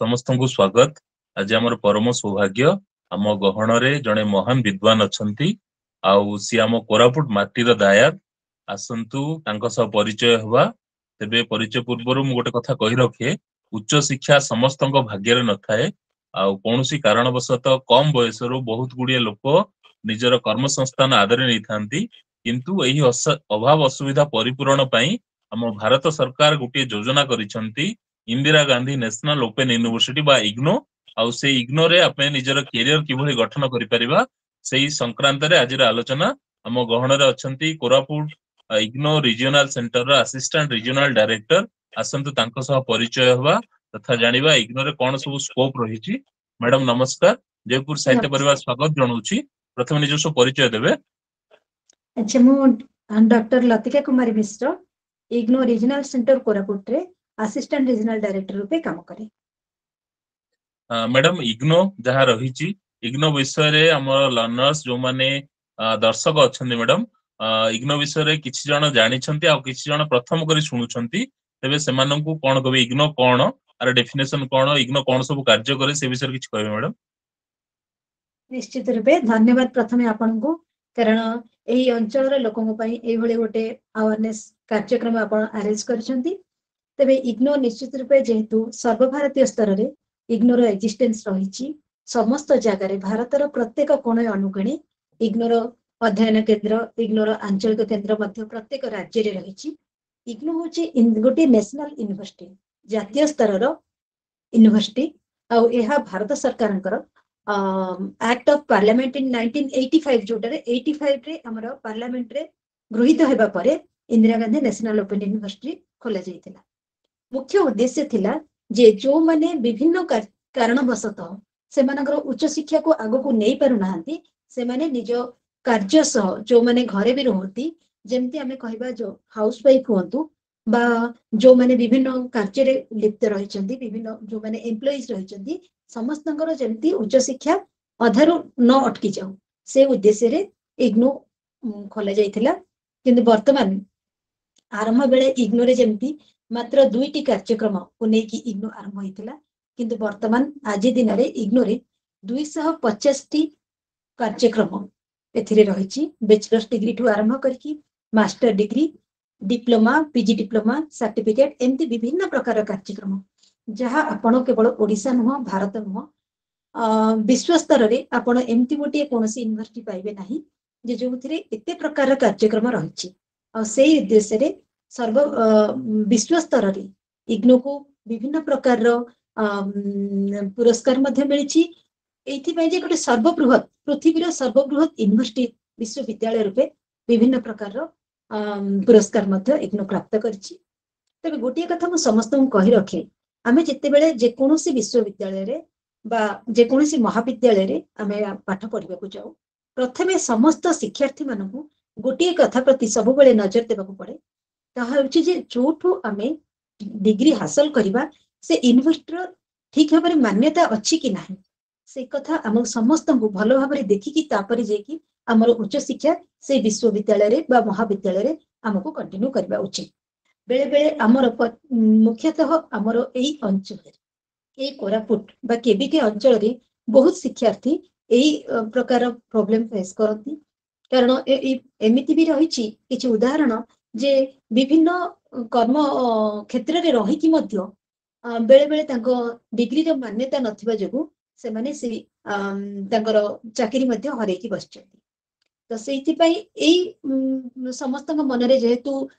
ସମସ୍ତଙ୍କୁ ସ୍ୱାଗତ। ଆଜି ଆମର ପରମ ସୌଭାଗ୍ୟ, ଆମ ଗହଣରେ ଜଣେ ମହାନ ବିଦ୍ୱାନ ଅଛନ୍ତି ଆଉ ସିଏ ଆମ କୋରାପୁଟ ମାଟିର ଦାୟାଦ। ଆସନ୍ତୁ ତାଙ୍କ ସହ ପରିଚୟ ହେବା। ତେବେ ପରିଚୟ ପୂର୍ବରୁ ମୁଁ ଗୋଟେ କଥା କହି ରଖେ, ଉଚ୍ଚ ଶିକ୍ଷା ସମସ୍ତଙ୍କ ଭାଗ୍ୟରେ ନଥାଏ ଆଉ କୌଣସି କାରଣବଶତଃ କମ ବୟସରୁ ବହୁତ ଗୁଡିଏ ଲୋକ ନିଜର କର୍ମ ସଂସ୍ଥାନ ଆଦରି ନେଇଥାନ୍ତି। କିନ୍ତୁ ଏହି ଅଭାବ ଅସୁବିଧା ପରିପୂରଣ ପାଇଁ ଆମ ଭାରତ ସରକାର ଗୋଟିଏ ଯୋଜନା କରିଛନ୍ତି, Indira Gandhi national open university ବା ଇଗ୍ନୋ। ଆଉ ସେଇ ଇଗ୍ନୋରେ ଆମେ ନିଜର କ୍ୟାରିୟର କିଭଳି ଗଠନ କରିପାରିବା ସେଇ ସଂକ୍ରାନ୍ତରେ ଆଜିର ଆଲୋଚନା। ଆମ ଗହଣରେ ଅଛନ୍ତି କୋରାପୁଟ ଇଗ୍ନୋ ରିଜିଓନାଲ ସେଣ୍ଟରର ଆସିଷ୍ଟାଣ୍ଟ ରିଜିଓନାଲ ଡାଇରେକ୍ଟର। ଆସନ୍ତୁ ତାଙ୍କ ସହ ପରିଚୟ ହେବା ତଥା ଜାଣିବା ଇଗ୍ନୋରେ କଣ ସବୁ ସ୍କୋପ ରହିଛି। ମ୍ୟାଡାମ ନମସ୍କାର, ଜୟପୁର ସାହିତ୍ୟ ପରିବାର ସ୍ୱାଗତ ଜଣାଉଛି। ପ୍ରଥମେ ନିଜସ୍ୱ ପରିଚୟ ଦେବେ। ଆଚ୍ଛା, ମୁଁ doctor Latika Kumari Mishra, IGNOU regional centre କୋରାପୁଟରେ ଆସିଷ୍ଟାଣ୍ଟ ରିଜିଓନାଲ ଡାଇରେକ୍ଟର ରୂପେ କାମ କରେ। ମ୍ୟାଡାମ, ଇଗ୍ନୋ ଯାହା ରହିଛି, ଇଗ୍ନୋ ବିଷୟରେ ଆମର ଲର୍ଣ୍ଣର୍ସ ଯୋଉମାନେ ଦର୍ଶକ ଅଛନ୍ତି ମ୍ୟାଡାମ, ଇଗ୍ନୋ ବିଷୟରେ କିଛି ଜଣ ଜାଣିଛନ୍ତି ଆଉ କିଛି ଜଣ ପ୍ରଥମ କରି ଶୁଣୁଛନ୍ତି। ତେବେ ସେମାନଙ୍କୁ କଣ କହିବେ, ଇଗ୍ନୋ କଣ, ଆର ଡେଫିନେସନ କଣ, ଇଗ୍ନୋ କଣ ସବୁ କାର୍ଯ୍ୟ କରେ, ସେ ବିଷୟରେ କିଛି କହିବେ ମ୍ୟାଡାମ? ନିଶ୍ଚିତ ରୂପେ ଧନ୍ୟବାଦ ପ୍ରଥମେ ଆପଣଙ୍କୁ, କାରଣ ଏଇ ଅଞ୍ଚଳର ଲୋକଙ୍କ ପାଇଁ ଏଇଭଳି ଗୋଟେ ଆୱାରନେସ୍ କାର୍ଯ୍ୟକ୍ରମ ଆପଣ ଆରେଞ୍ଜ କରିଛନ୍ତି। ତେବେ ଇଗ୍ନୋ ନିଶ୍ଚିତ ରୂପେ ଯେହେତୁ ସର୍ବଭାରତୀୟ ସ୍ତରରେ ଇଗ୍ନୋର ଏକ୍ଜିଷ୍ଟେନ୍ସ ରହିଛି, ସମସ୍ତ ଜାଗାରେ ଭାରତର ପ୍ରତ୍ୟେକ କୋଣ ଅନୁକୋଣେ ଇଗ୍ନୋର ଅଧ୍ୟୟନ କେନ୍ଦ୍ର, ଇଗ୍ନୋର ଆଞ୍ଚଳିକ କେନ୍ଦ୍ର ମଧ୍ୟ ପ୍ରତ୍ୟେକ ରାଜ୍ୟରେ ରହିଛି। ଇଗ୍ନୋ ହଉଛି ଗୋଟିଏ ନ୍ୟାସନାଲ ୟୁନିଭର୍ସିଟି, ଜାତୀୟ ସ୍ତରର ୟୁନିଭର୍ସିଟି, ଆଉ ଏହା ଭାରତ ସରକାରଙ୍କର ଆକ୍ଟ ଅଫ ପାର୍ଲାମେଣ୍ଟ ଇନ୍ 1985, ଯୋଉଟାରେ 85 ରେ ଆମର ପାର୍ଲାମେଣ୍ଟରେ ଗୃହୀତ ହେବା ପରେ Indira Gandhi national open university ଖୋଲା ଯାଇଥିଲା। ମୁଖ୍ୟ ଉଦ୍ଦେଶ୍ୟ ଥିଲା ଯେ ଯୋଉମାନେ ବିଭିନ୍ନ କାରଣବଶତଃ ସେମାନଙ୍କର ଉଚ୍ଚଶିକ୍ଷାକୁ ଆଗକୁ ନେଇ ପାରୁନାହାନ୍ତି, ସେମାନେ ନିଜ କାର୍ଯ୍ୟ ସହ ଯୋଉମାନେ ଘରେ ବି ରୁହନ୍ତି, ଯେମିତି ଆମେ କହିବା ଯୋଉ ହାଉସ ୱାଇଫ ହୁଅନ୍ତୁ ବା ଯୋଉମାନେ ବିଭିନ୍ନ କାର୍ଯ୍ୟରେ ଲିପ୍ତ ରହିଛନ୍ତି, ବିଭିନ୍ନ ଯୋଉମାନେ ଏମ୍ପ୍ଲୟିଜ ରହିଛନ୍ତି, ସମସ୍ତଙ୍କର ଯେମିତି ଉଚ୍ଚଶିକ୍ଷା ଅଧାରୁ ନ ଅଟକି ଯାଉ ସେ ଉଦ୍ଦେଶ୍ୟରେ ଇଗ୍ନୋ ଖୋଲା ଯାଇଥିଲା। କିନ୍ତୁ ବର୍ତ୍ତମାନ ଆରମ୍ଭ ବେଳେ ଇଗ୍ନୋରେ ଯେମିତି ମାତ୍ର 2ଟି କାର୍ଯ୍ୟକ୍ରମକୁ ନେଇକି ଇଗ୍ନୋ ଆରମ୍ଭ ହେଇଥିଲା, କିନ୍ତୁ ବର୍ତ୍ତମାନ ଆଜି ଦିନରେ ଇଗ୍ନୋରେ 250ଟି କାର୍ଯ୍ୟକ୍ରମ ଏଥିରେ ରହିଛି। ବ୍ୟାଚଲର୍ସ ଡିଗ୍ରୀ ଠୁ ଆରମ୍ଭ କରିକି master degree, diploma, PG diploma, certificate, ଏମିତି ବିଭିନ୍ନ ପ୍ରକାର କାର୍ଯ୍ୟକ୍ରମ, ଯାହା ଆପଣ କେବଳ ଓଡ଼ିଶା ନୁହଁ, ଭାରତ ନୁହଁ, ବିଶ୍ୱ ସ୍ତରରେ ଆପଣ ଏମିତି ଗୋଟିଏ କୌଣସି ୟୁନିଭର୍ସିଟି ପାଇବେ ନାହିଁ ଯେ ଯୋଉଥିରେ ଏତେ ପ୍ରକାରର କାର୍ଯ୍ୟକ୍ରମ ରହିଛି। ଆଉ ସେଇ ଉଦ୍ଦେଶ୍ୟରେ ସର୍ବ ବିଶ୍ୱ ସ୍ତରରେ ଇଗ୍ନୋକୁ ବିଭିନ୍ନ ପ୍ରକାରର ପୁରସ୍କାର ମଧ୍ୟ ମିଳିଛି, ଏଇଥିପାଇଁ ଯେ ଗୋଟେ ସର୍ବବୃହତ, ପୃଥିବୀର ସର୍ବବୃହତ ୟୁନିଭର୍ସିଟି ବିଶ୍ୱବିଦ୍ୟାଳୟ ରୂପେ ବିଭିନ୍ନ ପ୍ରକାରର ପୁରସ୍କାର ମଧ୍ୟ ଇଗ୍ନୋ ପ୍ରାପ୍ତ କରିଛି। ତେବେ ଗୋଟିଏ କଥା ମୁଁ ସମସ୍ତଙ୍କୁ କହି ରଖେ, ଆମେ ଯେତେବେଳେ ଯେକୌଣସି ବିଶ୍ୱବିଦ୍ୟାଳୟରେ ବା ଯେକୌଣସି ମହାବିଦ୍ୟାଳୟରେ ଆମେ ପାଠ ପଢିବାକୁ ଯାଉ, ପ୍ରଥମେ ସମସ୍ତ ଶିକ୍ଷାର୍ଥୀ ମାନଙ୍କୁ ଗୋଟିଏ କଥା ପ୍ରତି ସବୁବେଳେ ନଜର ଦେବାକୁ ପଡେ, ତାହା ହେଉଛି ଯେ ଯୋଉଠୁ ଆମେ ଡିଗ୍ରୀ ହାସଲ କରିବା ସେ ୟୁନିଭର୍ସିଟିର ଠିକ ଭାବରେ ମାନ୍ୟତା ଅଛି କି ନାହିଁ, ସେ କଥା ଆମ ସମସ୍ତଙ୍କୁ ଭଲ ଭାବରେ ଦେଖିକି ତାପରେ ଯାଇକି ଆମର ଉଚ୍ଚଶିକ୍ଷା ସେଇ ବିଶ୍ୱବିଦ୍ୟାଳୟରେ ବା ମହାବିଦ୍ୟାଳୟରେ ଆମକୁ କଣ୍ଟିନ୍ୟୁ କରିବା ଉଚିତ। ବେଳେ ବେଳେ ଆମର ମୁଖ୍ୟତଃ ଆମର ଏଇ ଅଞ୍ଚଳରେ, ଏଇ କୋରାପୁଟ ବା କେବିକେ ଅଞ୍ଚଳରେ ବହୁତ ଶିକ୍ଷାର୍ଥୀ ଏଇ ପ୍ରକାର ପ୍ରୋବ୍ଲେମ ଫେସ୍ କରନ୍ତି। କାରଣ ଏମିତି ବି ରହିଛି କିଛି ଉଦାହରଣ ଯେ ବିଭିନ୍ନ କର୍ମ କ୍ଷେତ୍ରରେ ରହିକି ମଧ୍ୟ ବେଳେ ବେଳେ ତାଙ୍କ ଡିଗ୍ରୀର ମାନ୍ୟତା ନଥିବା ଯୋଗୁଁ ସେମାନେ ସେଇ ତାଙ୍କର ଚାକିରି ମଧ୍ୟ ହରେଇକି ବସିଛନ୍ତି। ତ ସେଇଥିପାଇଁ ଏଇ ସମସ୍ତଙ୍କ ମନରେ ଯେହେତୁ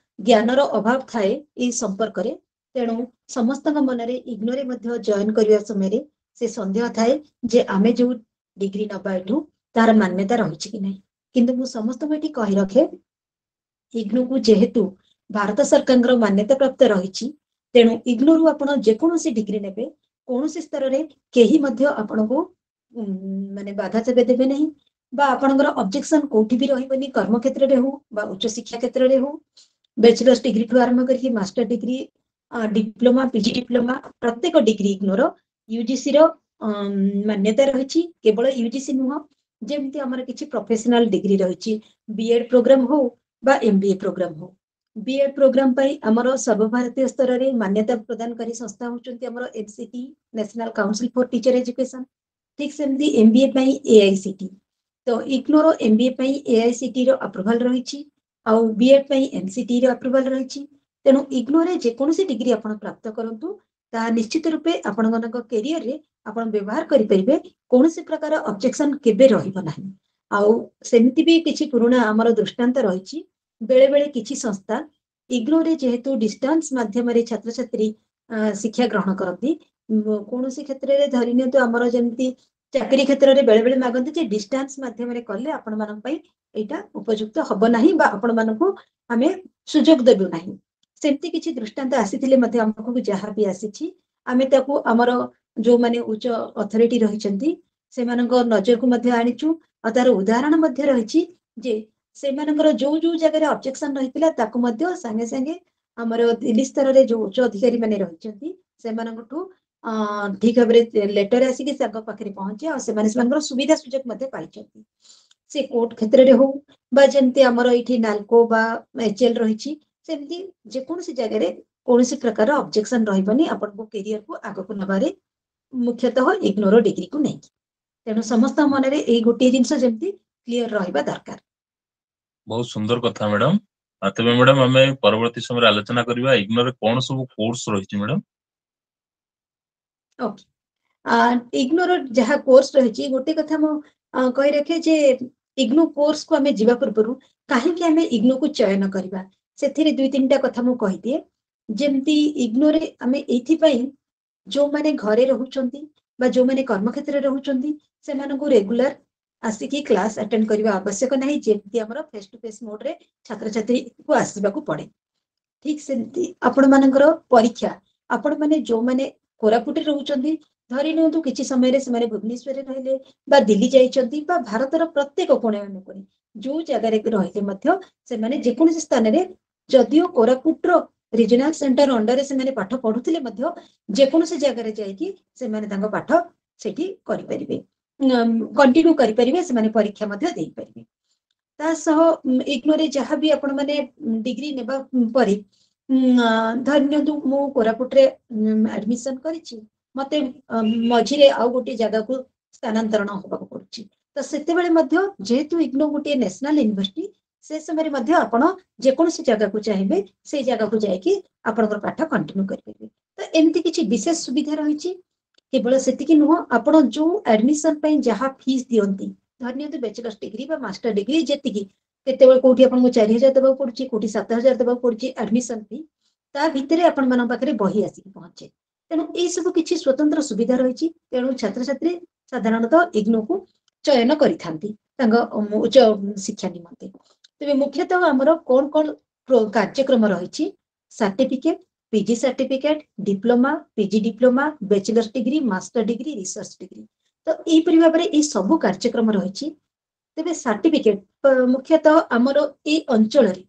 ଜ୍ଞାନର ଅଭାବ ଥାଏ ଏଇ ସମ୍ପର୍କରେ, ତେଣୁ ସମସ୍ତଙ୍କ ମନରେ ଇଗ୍ନୋରେ ମଧ୍ୟ ଜଏନ କରିବା ସମୟରେ ସେ ସନ୍ଦେହ ଥାଏ ଯେ ଆମେ ଯୋଉ ଡିଗ୍ରୀ ନବା ଏଠୁ ତାର ମାନ୍ୟତା ରହିଛି କି ନାହିଁ। କିନ୍ତୁ ମୁଁ ସମସ୍ତଙ୍କୁ ଏଠି କହି ରଖେ, ଇଗ୍ନୋକୁ ଯେହେତୁ ଭାରତ ସରକାରଙ୍କର ମାନ୍ୟତା ପ୍ରାପ୍ତ ରହିଛି, ତେଣୁ ଇଗ୍ନୋରୁ ଆପଣ ଯେକୌଣସି ଡିଗ୍ରୀ ନେବେ, କୌଣସି ସ୍ତରରେ କେହି ମଧ୍ୟ ଆପଣଙ୍କୁ ମାନେ ବାଧା କେବେ ଦେବେ ନାହିଁ ବା ଆପଣଙ୍କର ଅବଜେକ୍ସନ କୋଉଠି ବି ରହିବନି, କର୍ମକ୍ଷେତ୍ରରେ ହଉ ବା ଉଚ୍ଚଶିକ୍ଷା କ୍ଷେତ୍ରରେ ହଉ। ବ୍ୟାଚଲର୍ସ ଡିଗ୍ରୀ ଠୁ ଆରମ୍ଭ କରିକି master degree, diploma, PG diploma, ପ୍ରତ୍ୟେକ ଡିଗ୍ରୀ ଇଗ୍ନୋର ୟୁଜିସି ର ମାନ୍ୟତା ରହିଛି। କେବଳ ୟୁଜିସି ନୁହଁ, ଯେମିତି ଆମର କିଛି ପ୍ରଫେସନାଲ ଡିଗ୍ରୀ ରହିଛି, ବିଏଡ ପ୍ରୋଗ୍ରାମ ହଉ ବା ଏମବିଏ ପ୍ରୋଗ୍ରାମ ହଉ, ବିଏଡ୍ ପ୍ରୋଗ୍ରାମ ପାଇଁ ଆମର ସର୍ବଭାରତୀୟ ସ୍ତରରେ ମାନ୍ୟତା ପ୍ରଦାନକାରୀ ସଂସ୍ଥା ହଉଛନ୍ତି ଆମର NCT, national council for teacher education. ଠିକ ସେମିତି ଏମବିଏ ପାଇଁ ଏଆଇସିଟି। ତ ଇଗ୍ନୋର ଏମବିଏ ପାଇଁ ଏଆଇସିଟି ର ଆପ୍ରୁଭାଲ ରହିଛି ଆଉ ବିଏଡ୍ ପାଇଁ ଏନସିଟି ର ଆପ୍ରୁଭାଲ ରହିଛି। ତେଣୁ ଇଗ୍ନୋରେ ଯେକୌଣସି ଡିଗ୍ରୀ ଆପଣ ପ୍ରାପ୍ତ କରନ୍ତୁ, ତାହା ନିଶ୍ଚିତ ରୂପେ ଆପଣମାନଙ୍କ କ୍ୟାରିୟରରେ ଆପଣ ବ୍ୟବହାର କରିପାରିବେ, କୌଣସି ପ୍ରକାର ଅବଜେକ୍ସନ କେବେ ରହିବ ନାହିଁ। ଆଉ ସେମିତି ବି କିଛି ପୁରୁଣା ଆମର ଦୃଷ୍ଟାନ୍ତ ରହିଛି, ବେଳେ ବେଳେ କିଛି ସଂସ୍ଥା ଇଗ୍ନୋରେ ଯେହେତୁ ଡିଷ୍ଟାନ୍ସ ମାଧ୍ୟମରେ ଛାତ୍ରଛାତ୍ରୀ ଶିକ୍ଷା ଗ୍ରହଣ କରନ୍ତି, କୌଣସି କ୍ଷେତ୍ରରେ ଧରି ନିଅନ୍ତୁ ଆମର ଯେମିତି ଚାକିରି କ୍ଷେତ୍ରରେ ବେଳେ ବେଳେ ମାଗନ୍ତି ଯେ ଡିଷ୍ଟାନ୍ସ ମାଧ୍ୟମରେ କଲେ ଆପଣମାନଙ୍କ ପାଇଁ ଏଇଟା ଉପଯୁକ୍ତ ହବ ନାହିଁ ବା ଆପଣମାନଙ୍କୁ ଆମେ ସୁଯୋଗ ଦେବୁ ନାହିଁ। ସେମିତି କିଛି ଦୃଷ୍ଟାନ୍ତ ଆସିଥିଲେ ମଧ୍ୟ ଆମ ପାଖକୁ ଯାହା ବି ଆସିଛି ଆମେ ତାକୁ ଆମର ଯୋଉମାନେ ଉଚ୍ଚ ଅଥରିଟି ରହିଛନ୍ତି ସେମାନଙ୍କ ନଜରକୁ ମଧ୍ୟ ଆଣିଛୁ। ଆଉ ତାର ଉଦାହରଣ ମଧ୍ୟ ରହିଛି ଯେ ସେମାନଙ୍କର ଯୋଉ ଯୋଉ ଜାଗାରେ ଅବଜେକ୍ସନ ରହିଥିଲା ତାକୁ ମଧ୍ୟ ସାଙ୍ଗେ ସାଙ୍ଗେ ଆମର ଦିଲ୍ଲୀ ସ୍ତରରେ ଯୋଉ ଉଚ୍ଚ ଅଧିକାରୀ ମାନେ ରହିଛନ୍ତି ସେମାନଙ୍କଠୁ ଠିକ ଭାବରେ ଲେଟର ଆସିକି ତାଙ୍କ ପାଖରେ ପହଞ୍ଚେ ଆଉ ସେମାନେ ସେମାନଙ୍କର ସୁବିଧା ସୁଯୋଗ ମଧ୍ୟ ପାଇଛନ୍ତି। ସେ କୋର୍ଟ କ୍ଷେତ୍ରରେ ହଉ ବା ଯେମିତି ଆମର ଏଇଠି ନାଲକୋ ବା ଏଚଏଲ ରହିଛି, ସେମିତି ଯେକୌଣସି ଜାଗାରେ କୌଣସି ପ୍ରକାର ଅବଜେକ୍ସନ ରହିବନି ଆପଣଙ୍କ କ୍ୟାରିୟରକୁ ଆଗକୁ ନବାରେ, ମୁଖ୍ୟତଃ ଇଗ୍ନୋର ଡିଗ୍ରୀକୁ ନେଇକି। ତେଣୁ ସମସ୍ତଙ୍କ ମନରେ ଏଇ ଗୋଟିଏ ଜିନିଷ ଯେମିତି କ୍ଲିୟର ରହିବା ଦରକାର। ବହୁତ ସୁନ୍ଦର କଥା ମ୍ୟାଡାମ। ତେବେ ମ୍ୟାଡାମ ଆମେ ପରବର୍ତ୍ତୀ ସମୟରେ ଆଲୋଚନା କରିବା ଇଗ୍ନୋରେ କଣ ସବୁ କୋର୍ସ ରହିଛି ମ୍ୟାଡାମ। ଓକେ, ଇଗ୍ନୋର ଯାହା କୋର୍ସ ରହିଛି, ଗୋଟେ କଥା ମୁଁ କହି ରଖେ ଯେ ଇଗ୍ନୋ କୋର୍ସକୁ ଆମେ ଯିବା ପୂର୍ବରୁ କାହିଁକି ଆମେ ଇଗ୍ନୋକୁ ଚୟନ କରିବା ସେଥିରେ ଦୁଇ ତିନିଟା କଥା ମୁଁ କହିଦିଏ। ଯେମିତି ଇଗ୍ନୋରେ ଆମେ ଏଇଥିପାଇଁ ଯୋଉମାନେ ଘରେ ରହୁଛନ୍ତି ବା ଯୋଉମାନେ କର୍ମକ୍ଷେତ୍ରରେ ରହୁଛନ୍ତି ସେମାନଙ୍କୁ ରେଗୁଲାର ଆସିକି କ୍ଲାସ ଆଟେଣ୍ଡ କରିବା ଆବଶ୍ୟକ ନାହିଁ, ଯେମିତି ଆମର ଫେସ୍ ଟୁ ଫେସ୍ ମୋଡରେ ଛାତ୍ରଛାତ୍ରୀକୁ ଆସିବାକୁ ପଡେ। ଠିକ ସେମିତି ଆପଣମାନଙ୍କର ପରୀକ୍ଷା, ଆପଣମାନେ ଯୋଉମାନେ କୋରାପୁଟରେ ରହୁଛନ୍ତି, ଧରି ନିଅନ୍ତୁ କିଛି ସମୟରେ ସେମାନେ ଭୁବନେଶ୍ୱରରେ ରହିଲେ ବା ଦିଲ୍ଲୀ ଯାଇଛନ୍ତି ବା ଭାରତର ପ୍ରତ୍ୟେକ କୋଣେ ଅନୁକୋଣେ ଯୋଉ ଜାଗାରେ ରହିଲେ ମଧ୍ୟ ସେମାନେ ଯେକୌଣସି ସ୍ଥାନରେ, ଯଦିଓ କୋରାପୁଟର ରିଜନାଲ ସେଣ୍ଟର ଅଣ୍ଡରରେ ସେମାନେ ପାଠ ପଢୁଥିଲେ ମଧ୍ୟ ଯେକୌଣସି ଜାଗାରେ ଯାଇକି ସେମାନେ ତାଙ୍କ ପାଠ ସେଠି କରିପାରିବେ, କଣ୍ଟିନ୍ୟୁ କରିପାରିବେ, ସେମାନେ ପରୀକ୍ଷା ମଧ୍ୟ ଦେଇପାରିବେ। ତା ସହ ଇଗ୍ନୋରେ ଯାହା ବି ଆପଣ ମାନେ ଡିଗ୍ରୀ ନେବା ପରେ, ଧରି ନିଅନ୍ତୁ ମୁଁ କୋରାପୁଟରେ ଆଡମିସନ କରିଛି, ମତେ ମଝିରେ ଆଉ ଗୋଟିଏ ଜାଗାକୁ ସ୍ଥାନାନ୍ତରଣ ହବାକୁ ପଡୁଛି, ତ ସେତେବେଳେ ମଧ୍ୟ ଯେହେତୁ ଇଗ୍ନୋ ଗୋଟିଏ ନ୍ୟାସନାଲ ୟୁନିଭର୍ସିଟି, ସେ ସମୟରେ ମଧ୍ୟ ଆପଣ ଯେକୌଣସି ଜାଗାକୁ ଚାହିଁବେ ସେଇ ଜାଗାକୁ ଯାଇକି ଆପଣଙ୍କର ପାଠ କଣ୍ଟିନ୍ୟୁ କରିପାରିବେ। ତ ଏମିତି କିଛି ବିଶେଷ ସୁବିଧା ରହିଛି। କେବଳ ସେତିକି ନୁହଁ, ଆପଣ ଯୋଉ ଆଡମିସନ ପାଇଁ ଯାହା ଫିସ୍ ଦିଅନ୍ତି, ଧରି ନିଅନ୍ତୁ ବ୍ୟାଚଲର୍ସ ଡିଗ୍ରୀ ବା ମାଷ୍ଟର ଡିଗ୍ରୀ, ଯେତିକି କେତେବେଳେ କୋଉଠି ଆପଣଙ୍କୁ 4,000 ଦେବାକୁ ପଡୁଛି, କୋଉଠି 7,000 ଦେବାକୁ ପଡୁଛି ଆଡମିସନ ଫି, ତା ଭିତରେ ଆପଣମାନଙ୍କ ପାଖରେ ବହି ଆସିକି ପହଞ୍ଚେ। ତେଣୁ ଏଇ ସବୁ କିଛି ସ୍ୱତନ୍ତ୍ର ସୁବିଧା ରହିଛି। ତେଣୁ ଛାତ୍ରଛାତ୍ରୀ ସାଧାରଣତଃ ଇଗ୍ନୋକୁ ଚୟନ କରିଥାନ୍ତି ତାଙ୍କ ଉଚ୍ଚ ଶିକ୍ଷା ନିମନ୍ତେ। ତେବେ ମୁଖ୍ୟତଃ ଆମର କଣ କଣ କାର୍ଯ୍ୟକ୍ରମ ରହିଛି: certificate, PG certificate, diploma, PG diploma, bachelor's degree, master degree, research degree. ତ ଏହିପରି ଭାବରେ ଏଇ ସବୁ କାର୍ଯ୍ୟକ୍ରମ ରହିଛି। ତେବେ ସାର୍ଟିଫିକେଟ ମୁଖ୍ୟତଃ ଆମର ଏଇ ଅଞ୍ଚଳରେ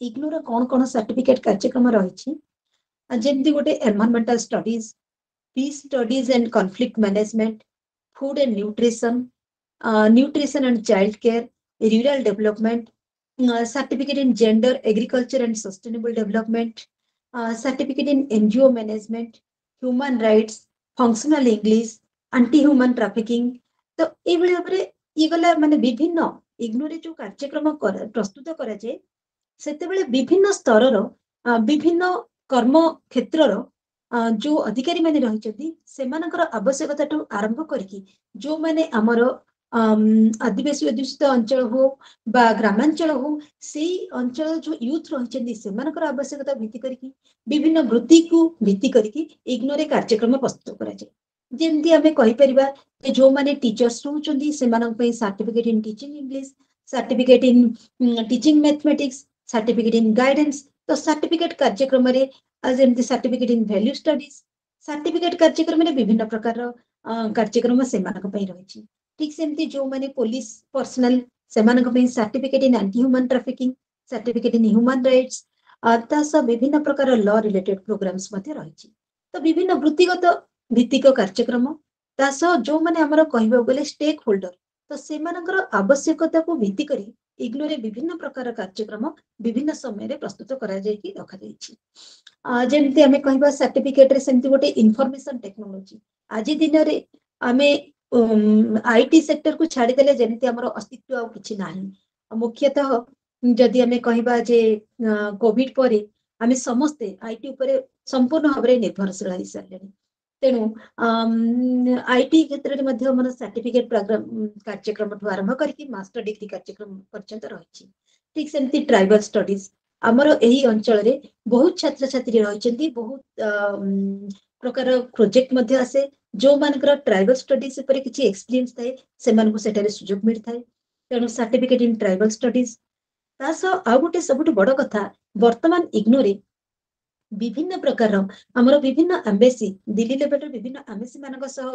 ଇଗ୍ନୋର କଣ କଣ ସାର୍ଟିଫିକେଟ କାର୍ଯ୍ୟକ୍ରମ ରହିଛି, ଯେମିତି ଗୋଟେ environmental studies, peace studies and conflict management, food and nutrition, nutrition and child care, rural development, certificate in gender, agriculture and sustainable development, certificate in NGO management, human rights, functional English, anti human trafficking. ତ ଏଇଭଳି ଭାବରେ ଇଏ ଗଲା, ମାନେ ବିଭିନ୍ନ ଇଗ୍ନୋରେ ଯୋଉ କାର୍ଯ୍ୟକ୍ରମ ପ୍ରସ୍ତୁତ କରାଯାଏ ସେତେବେଳେ ବିଭିନ୍ନ ସ୍ତରର ବିଭିନ୍ନ କର୍ମ କ୍ଷେତ୍ରର ଯୋଉ ଅଧିକାରୀ ମାନେ ରହିଛନ୍ତି ସେମାନଙ୍କର ଆବଶ୍ୟକତାଠୁ ଆରମ୍ଭ କରିକି ଯୋଉମାନେ ଆମର ଆଦିବାସୀ ଅଧ୍ୟୁଷିତ ଅଞ୍ଚଳ ହଉ ବା ଗ୍ରାମାଞ୍ଚଳ ହଉ, ସେଇ ଅଞ୍ଚଳ ଯୋଉ ୟୁଥ ରହିଛନ୍ତି ସେମାନଙ୍କର ଆବଶ୍ୟକତା ଭିତ୍ତି କରିକି ବିଭିନ୍ନ ବୃତ୍ତିକୁ ଭିତ୍ତି କରିକି ଇଗ୍ନୋରେ କାର୍ଯ୍ୟକ୍ରମ ପ୍ରସ୍ତୁତ କରାଯାଏ। ଯେମିତି ଆମେ କହିପାରିବା ଯେ ଯୋଉମାନେ ଟିଚର୍ସ ରହୁଛନ୍ତି ସେମାନଙ୍କ ପାଇଁ certificate in teaching English, certificate in teaching mathematics, certificate in guidance. ତ ସାର୍ଟିଫିକେଟ କାର୍ଯ୍ୟକ୍ରମରେ ଯେମିତି certificate in value studies, certificate କାର୍ଯ୍ୟକ୍ରମରେ ବିଭିନ୍ନ ପ୍ରକାରର କାର୍ଯ୍ୟକ୍ରମ ସେମାନଙ୍କ ପାଇଁ ରହିଛି। ଠିକ ସେମିତି ଯୋଉମାନେ ପୋଲିସ ପର୍ସନାଲ ସେମାନଙ୍କ ପାଇଁ certificate in anti human trafficking, certificate in human rights, ତା ସହ ବିଭିନ୍ନ ପ୍ରକାର ଲ ରିଲେଟେଡ ପ୍ରୋଗ୍ରାମସ ମଧ୍ୟ ରହିଛି। ତ ବିଭିନ୍ନ ବୃତ୍ତିଗତ ଭିତ୍ତିକ କାର୍ଯ୍ୟକ୍ରମ, ତା ସହ ଯୋଉମାନେ ଆମର କହିବାକୁ ଗଲେ ଷ୍ଟେକ୍ ହୋଲ୍ଡର, ତ ସେମାନଙ୍କର ଆବଶ୍ୟକତାକୁ ଭିତ୍ତି କରି ଇଗ୍ନୋରେ ବିଭିନ୍ନ ପ୍ରକାର କାର୍ଯ୍ୟକ୍ରମ ବିଭିନ୍ନ ସମୟରେ ପ୍ରସ୍ତୁତ କରାଯାଇକି ରଖାଯାଇଛି। ଯେମିତି ଆମେ କହିବା ସାର୍ଟିଫିକେଟରେ, ସେମିତି ଗୋଟେ ଇନଫର୍ମେସନ ଟେକ୍ନୋଲୋଜି। ଆଜି ଦିନରେ ଆମେ IT ସେକ୍ଟରକୁ ଛାଡ଼ିଦେଲେ ଯେମିତି ଆମର ଅସ୍ତିତ୍ୱ ଆଉ କିଛି ନାହିଁ। ମୁଖ୍ୟତଃ ଯଦି ଆମେ କହିବା ଯେ କୋଭିଡ ପରେ ଆମେ ସମସ୍ତେ IT ଉପରେ ସମ୍ପୂର୍ଣ୍ଣ ଭାବରେ ନିର୍ଭରଶୀଳ ହେଇସାରିଲେଣି। ତେଣୁ IT କ୍ଷେତ୍ରରେ ମଧ୍ୟ ଆମର ସାର୍ଟିଫିକେଟ ପ୍ରୋଗ୍ରାମ କାର୍ଯ୍ୟକ୍ରମଠୁ ଆରମ୍ଭ କରିକି ମାଷ୍ଟର ଡିଗ୍ରୀ କାର୍ଯ୍ୟକ୍ରମ ପର୍ଯ୍ୟନ୍ତ ରହିଛି। ଠିକ ସେମିତି ଟ୍ରାଇବାଲ ଷ୍ଟଡିଜ। ଆମର ଏହି ଅଞ୍ଚଳରେ ବହୁତ ଛାତ୍ରଛାତ୍ରୀ ରହିଛନ୍ତି, ବହୁତ ପ୍ରକାର ପ୍ରୋଜେକ୍ଟ ମଧ୍ୟ ଆସେ। ଯୋଉମାନଙ୍କର ଟ୍ରାଇବାଲ ଷ୍ଟଡିଜ ଉପରେ କିଛି ଏକ୍ସପିରିଏନ୍ସ ଥାଏ, ସେମାନଙ୍କୁ ସେଠାରେ ସୁଯୋଗ ମିଳିଥାଏ। ତେଣୁ ସାର୍ଟିଫିକେଟ ଇନ୍ ଟ୍ରାଇବାଲ ଷ୍ଟଡିଜ। ତା ସହ ଆଉ ଗୋଟେ ସବୁଠୁ ବଡ କଥା, ବର୍ତ୍ତମାନ ଇଗ୍ନୋରେ ବିଭିନ୍ନ ପ୍ରକାରର ଆମର ବିଭିନ୍ନ ଆମ୍ବେସି, ଦିଲ୍ଲୀ ଲେଭେଲର ବିଭିନ୍ନ ଆମ୍ବେସି ମାନଙ୍କ ସହ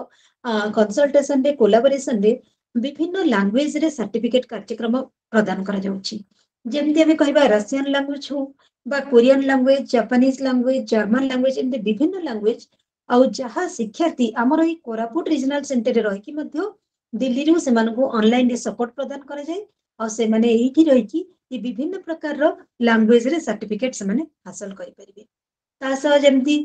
କନସଲଟେସନରେ, କୋଲାବୋରେସନରେ ବିଭିନ୍ନ ଲାଙ୍ଗୁଏଜରେ ସାର୍ଟିଫିକେଟ କାର୍ଯ୍ୟକ୍ରମ ପ୍ରଦାନ କରାଯାଉଛି। ଯେମିତି ଆମେ କହିବା ରସିଆନ ଲାଙ୍ଗୁଏଜ ହଉ ବା Korean language, Japanese language, German language, ଏମିତି ବିଭିନ୍ନ ଲାଙ୍ଗୁଏଜ। ଆଉ ଯାହା ଶିକ୍ଷାର୍ଥୀ ଆମର ଏଇ କୋରାପୁଟ ରିଜନାଲ ସେଣ୍ଟରରେ ରହିକି ମଧ୍ୟ ଦିଲ୍ଲୀରୁ ସେମାନଙ୍କୁ ଅନଲାଇନରେ ସପୋର୍ଟ ପ୍ରଦାନ କରାଯାଏ, ଆଉ ସେମାନେ ଏଇଠି ରହିକି ଏ ବିଭିନ୍ନ ପ୍ରକାରର ଲାଙ୍ଗୁଏଜରେ ସାର୍ଟିଫିକେଟ ସେମାନେ ହାସଲ କରିପାରିବେ। ତା ସହ ଯେମିତି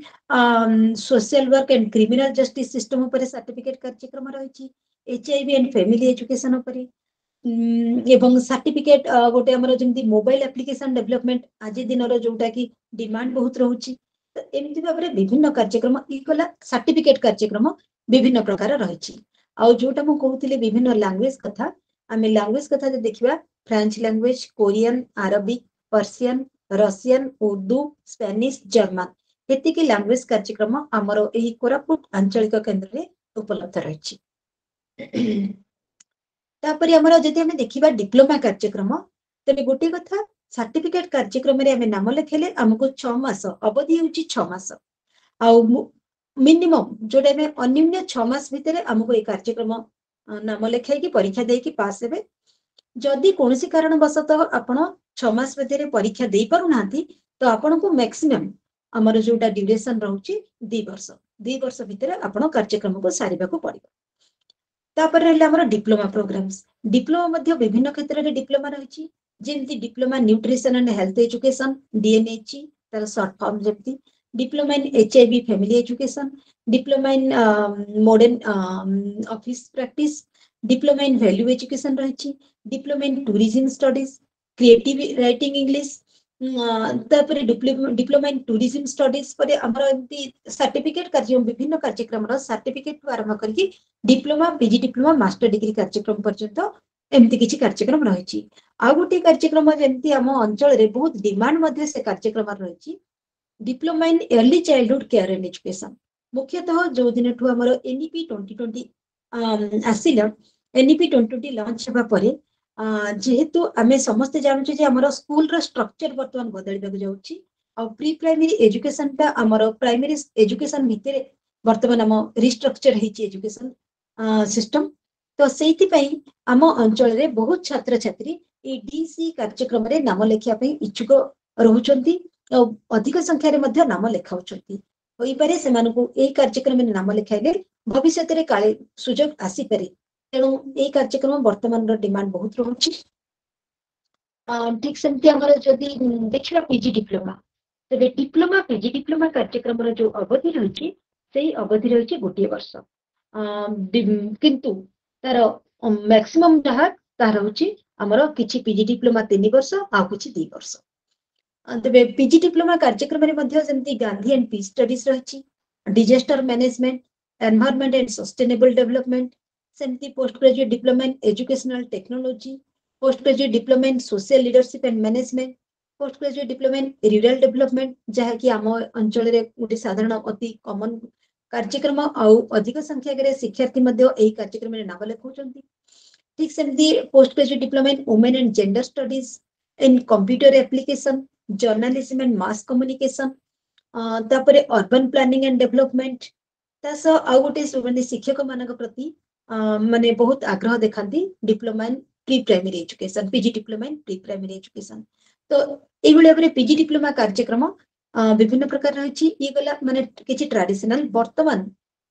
social work and criminal justice system ଉପରେ ସାର୍ଟିଫିକେଟ କାର୍ଯ୍ୟକ୍ରମ ରହିଛି, HIV and family education ଉପରେ, ଏବଂ ସାର୍ଟିଫିକେଟ ଗୋଟେ ଆମର ଯେମିତି ମୋବାଇଲ ଆପ୍ଲିକେସନ ଡେଭଲପମେଣ୍ଟ, ଆଜି ଦିନର ଯୋଉଟା କି ଡିମାଣ୍ଡ ବହୁତ ରହୁଛି। ତ ଏମିତି ଭାବରେ ବିଭିନ୍ନ କାର୍ଯ୍ୟକ୍ରମ ଇ ଗଲା, ସାର୍ଟିଫିକେଟ କାର୍ଯ୍ୟକ୍ରମ ବିଭିନ୍ନ ପ୍ରକାର ରହିଛି। ଆଉ ଯୋଉଟା ମୁଁ କହୁଥିଲି ବିଭିନ୍ନ ଲାଙ୍ଗୁଏଜ କଥା, ଆମେ ଲାଙ୍ଗୁଏଜ କଥା ଯଦି ଦେଖିବା, French language, Korean, Arabic, Persian, Russian, Urdu, Spanish, German, ଏତିକି ଲାଙ୍ଗୁଏଜ କାର୍ଯ୍ୟକ୍ରମ ଆମର ଏହି କୋରାପୁଟ ଆଞ୍ଚଳିକ କେନ୍ଦ୍ରରେ ଉପଲବ୍ଧ ରହିଛି। ତାପରେ ଆମର ଯଦି ଆମେ ଦେଖିବା ଡିପ୍ଲୋମା କାର୍ଯ୍ୟକ୍ରମ, ତେବେ ଗୋଟିଏ କଥା, ସାର୍ଟିଫିକେଟ କାର୍ଯ୍ୟକ୍ରମରେ ଆମେ ନାମ ଲେଖେଇଲେ ଆମକୁ 6 ମାସ ଅବଧି ହେଉଛି, 6 ମାସ, ଆଉ ମିନିମମ୍ ଯୋଉଟା ଆମେ ଅନ୍ୟୁନ 6 ମାସ ଭିତରେ ଆମକୁ ଏଇ କାର୍ଯ୍ୟକ୍ରମ ନାମ ଲେଖାଇକି ପରୀକ୍ଷା ଦେଇକି ପାସ୍ ହେବେ। ଯଦି କୌଣସି କାରଣବଶତଃ ଆପଣ 6 ମାସ ଭିତରେ ପରୀକ୍ଷା ଦେଇପାରୁନାହାନ୍ତି, ତ ଆପଣଙ୍କୁ ମ୍ୟାକ୍ସିମମ୍ ଆମର ଯୋଉଟା ଡ୍ୟୁରେସନ ରହୁଛି 2 ବର୍ଷ, 2 ବର୍ଷ ଭିତରେ ଆପଣ କାର୍ଯ୍ୟକ୍ରମକୁ ସାରିବାକୁ ପଡିବ। ତାପରେ ରହିଲା ଆମର ଡିପ୍ଲୋମା ପ୍ରୋଗ୍ରାମସ। ଡିପ୍ଲୋମା ମଧ୍ୟ ବିଭିନ୍ନ କ୍ଷେତ୍ରରେ ଡିପ୍ଲୋମା ରହିଛି। ଯେମିତି Diploma Nutrition and Health Education, DNH ତାର ସର୍ଟ ଫର୍ମ, ଯେମିତି Diploma in HIV Family Education, Diploma in Modern Office Practice, Diploma in Value Education ରହିଛି, Diploma in Tourism Studies, Creative Writing English, ତାପରେ diploma in tourism studies ପରେ ଆମର ଏମିତି certificate କାର୍ଯ୍ୟ, ବିଭିନ୍ନ କାର୍ଯ୍ୟକ୍ରମର ସାର୍ଟିଫିକେଟ ଆରମ୍ଭ କରିକି diploma, PG diploma, master degree କାର୍ଯ୍ୟକ୍ରମ ପର୍ଯ୍ୟନ୍ତ ଏମିତି କିଛି କାର୍ଯ୍ୟକ୍ରମ ରହିଛି। ଆଉ ଗୋଟିଏ କାର୍ଯ୍ୟକ୍ରମ ଯେମିତି ଆମ ଅଞ୍ଚଳରେ ବହୁତ ଡିମାଣ୍ଡ ମଧ୍ୟ ସେ କାର୍ଯ୍ୟକ୍ରମ ରହିଛି, Diploma in Early Childhood Care and Education। ମୁଖ୍ୟତଃ ଯୋଉ ଦିନଠୁ ଆମର ଏନ୍ଇପି 2020 ଆସିଲା, ଏନ୍ଇପି 2020 ଲଞ୍ଚ ହେବା ପରେ, ଯେହେତୁ ଆମେ ସମସ୍ତେ ଜାଣୁଛେ ଯେ ଆମର ସ୍କୁଲର ଷ୍ଟ୍ରକ୍ଚର ବର୍ତ୍ତମାନ ବଦଳିବାକୁ ଯାଉଛି, ଆଉ ପ୍ରି ପ୍ରାଇମେରୀ ଏଜୁକେସନଟା ଆମର ପ୍ରାଇମେରୀ ଏଜୁକେସନ ଭିତରେ ବର୍ତ୍ତମାନ ଆମ ରିଷ୍ଟ୍ରକ୍ଚର ହେଇଛି ଏଜୁକେସନ ସିଷ୍ଟମ। ତ ସେଇଥିପାଇଁ ଆମ ଅଞ୍ଚଳରେ ବହୁତ ଛାତ୍ରଛାତ୍ରୀ ଏଇ ଡିସି କାର୍ଯ୍ୟକ୍ରମରେ ନାମ ଲେଖିବା ପାଇଁ ଇଚ୍ଛୁକ ରହୁଛନ୍ତି ଆଉ ଅଧିକ ସଂଖ୍ୟାରେ ମଧ୍ୟ ନାମ ଲେଖାଉଛନ୍ତି। ହୋଇପାରେ ସେମାନଙ୍କୁ ଏଇ କାର୍ଯ୍ୟକ୍ରମରେ ନାମ ଲେଖାଇଲେ ଭବିଷ୍ୟତରେ କାଳେ ସୁଯୋଗ ଆସିପାରେ। ତେଣୁ ଏଇ କାର୍ଯ୍ୟକ୍ରମ ବର୍ତ୍ତମାନର ଡିମାଣ୍ଡ ବହୁତ ରହୁଛି। ଠିକ ସେମିତି ଆମର ଯଦି ଦେଖିବା ପିଜି ଡିପ୍ଲୋମା, ତେବେ ଡିପ୍ଲୋମା, ପିଜି ଡିପ୍ଲୋମା କାର୍ଯ୍ୟକ୍ରମର ଯୋଉ ଅବଧି ରହିଛି, ସେଇ ଅବଧି ରହିଛି ଗୋଟିଏ ବର୍ଷ। କିନ୍ତୁ ତାର ମ୍ୟାକ୍ସିମମ୍ ଯାହା ତାହା ରହୁଛି ଆମର କିଛି ପିଜି ଡିପ୍ଲୋମା 3 ବର୍ଷ ଆଉ କିଛି 2 ବର୍ଷ। ତେବେ ପିଜି ଡିପ୍ଲୋମା କାର୍ଯ୍ୟକ୍ରମରେ ମଧ୍ୟ ଯେମିତି ଗାନ୍ଧୀ ଆଣ୍ଡ ପିସ୍ ଷ୍ଟଡିଜ ରହିଛି, Disaster Management, Environment and Sustainable Development, ସେମିତି Post Graduate Diploma in Educational Technology, Post Graduate Diploma in Social Leadership and Management, Post Graduate Diploma in Rural Development, ଯାହାକି ଆମ ଅଞ୍ଚଳରେ ଗୋଟେ ସାଧାରଣ ଅତି କମନ କାର୍ଯ୍ୟକ୍ରମ, ଆଉ ଅଧିକ ସଂଖ୍ୟାରେ ଶିକ୍ଷାର୍ଥୀ ମଧ୍ୟ ଏହି କାର୍ଯ୍ୟକ୍ରମରେ ନାମ ଲେଖାଉଛନ୍ତି। ଠିକ ସେମିତି Post Graduate Diploma in Women and Gender Studies, in Computer Application, Journalism and Mass Communication, ତାପରେ ଅର୍ବାନ ପ୍ଲାନିଂ ଆଣ୍ଡ ଡେଭଲପମେଣ୍ଟ। ତା ସହ ଆଉ ଗୋଟେ ମାନେ ଶିକ୍ଷକ ମାନଙ୍କ ପ୍ରତି ମାନେ ବହୁତ ଆଗ୍ରହ ଦେଖାନ୍ତି, Diploma in Pre Primary Education, PG Diploma in Pre Primary Education। ତ ଏଇଭଳି ଭାବରେ ପିଜି ଡିପ୍ଲୋମା କାର୍ଯ୍ୟକ୍ରମ ବିଭିନ୍ନ ପ୍ରକାର ରହିଛି। ଇଏ ଗଲା ମାନେ କିଛି ଟ୍ରାଡିସନାଲ। ବର୍ତ୍ତମାନ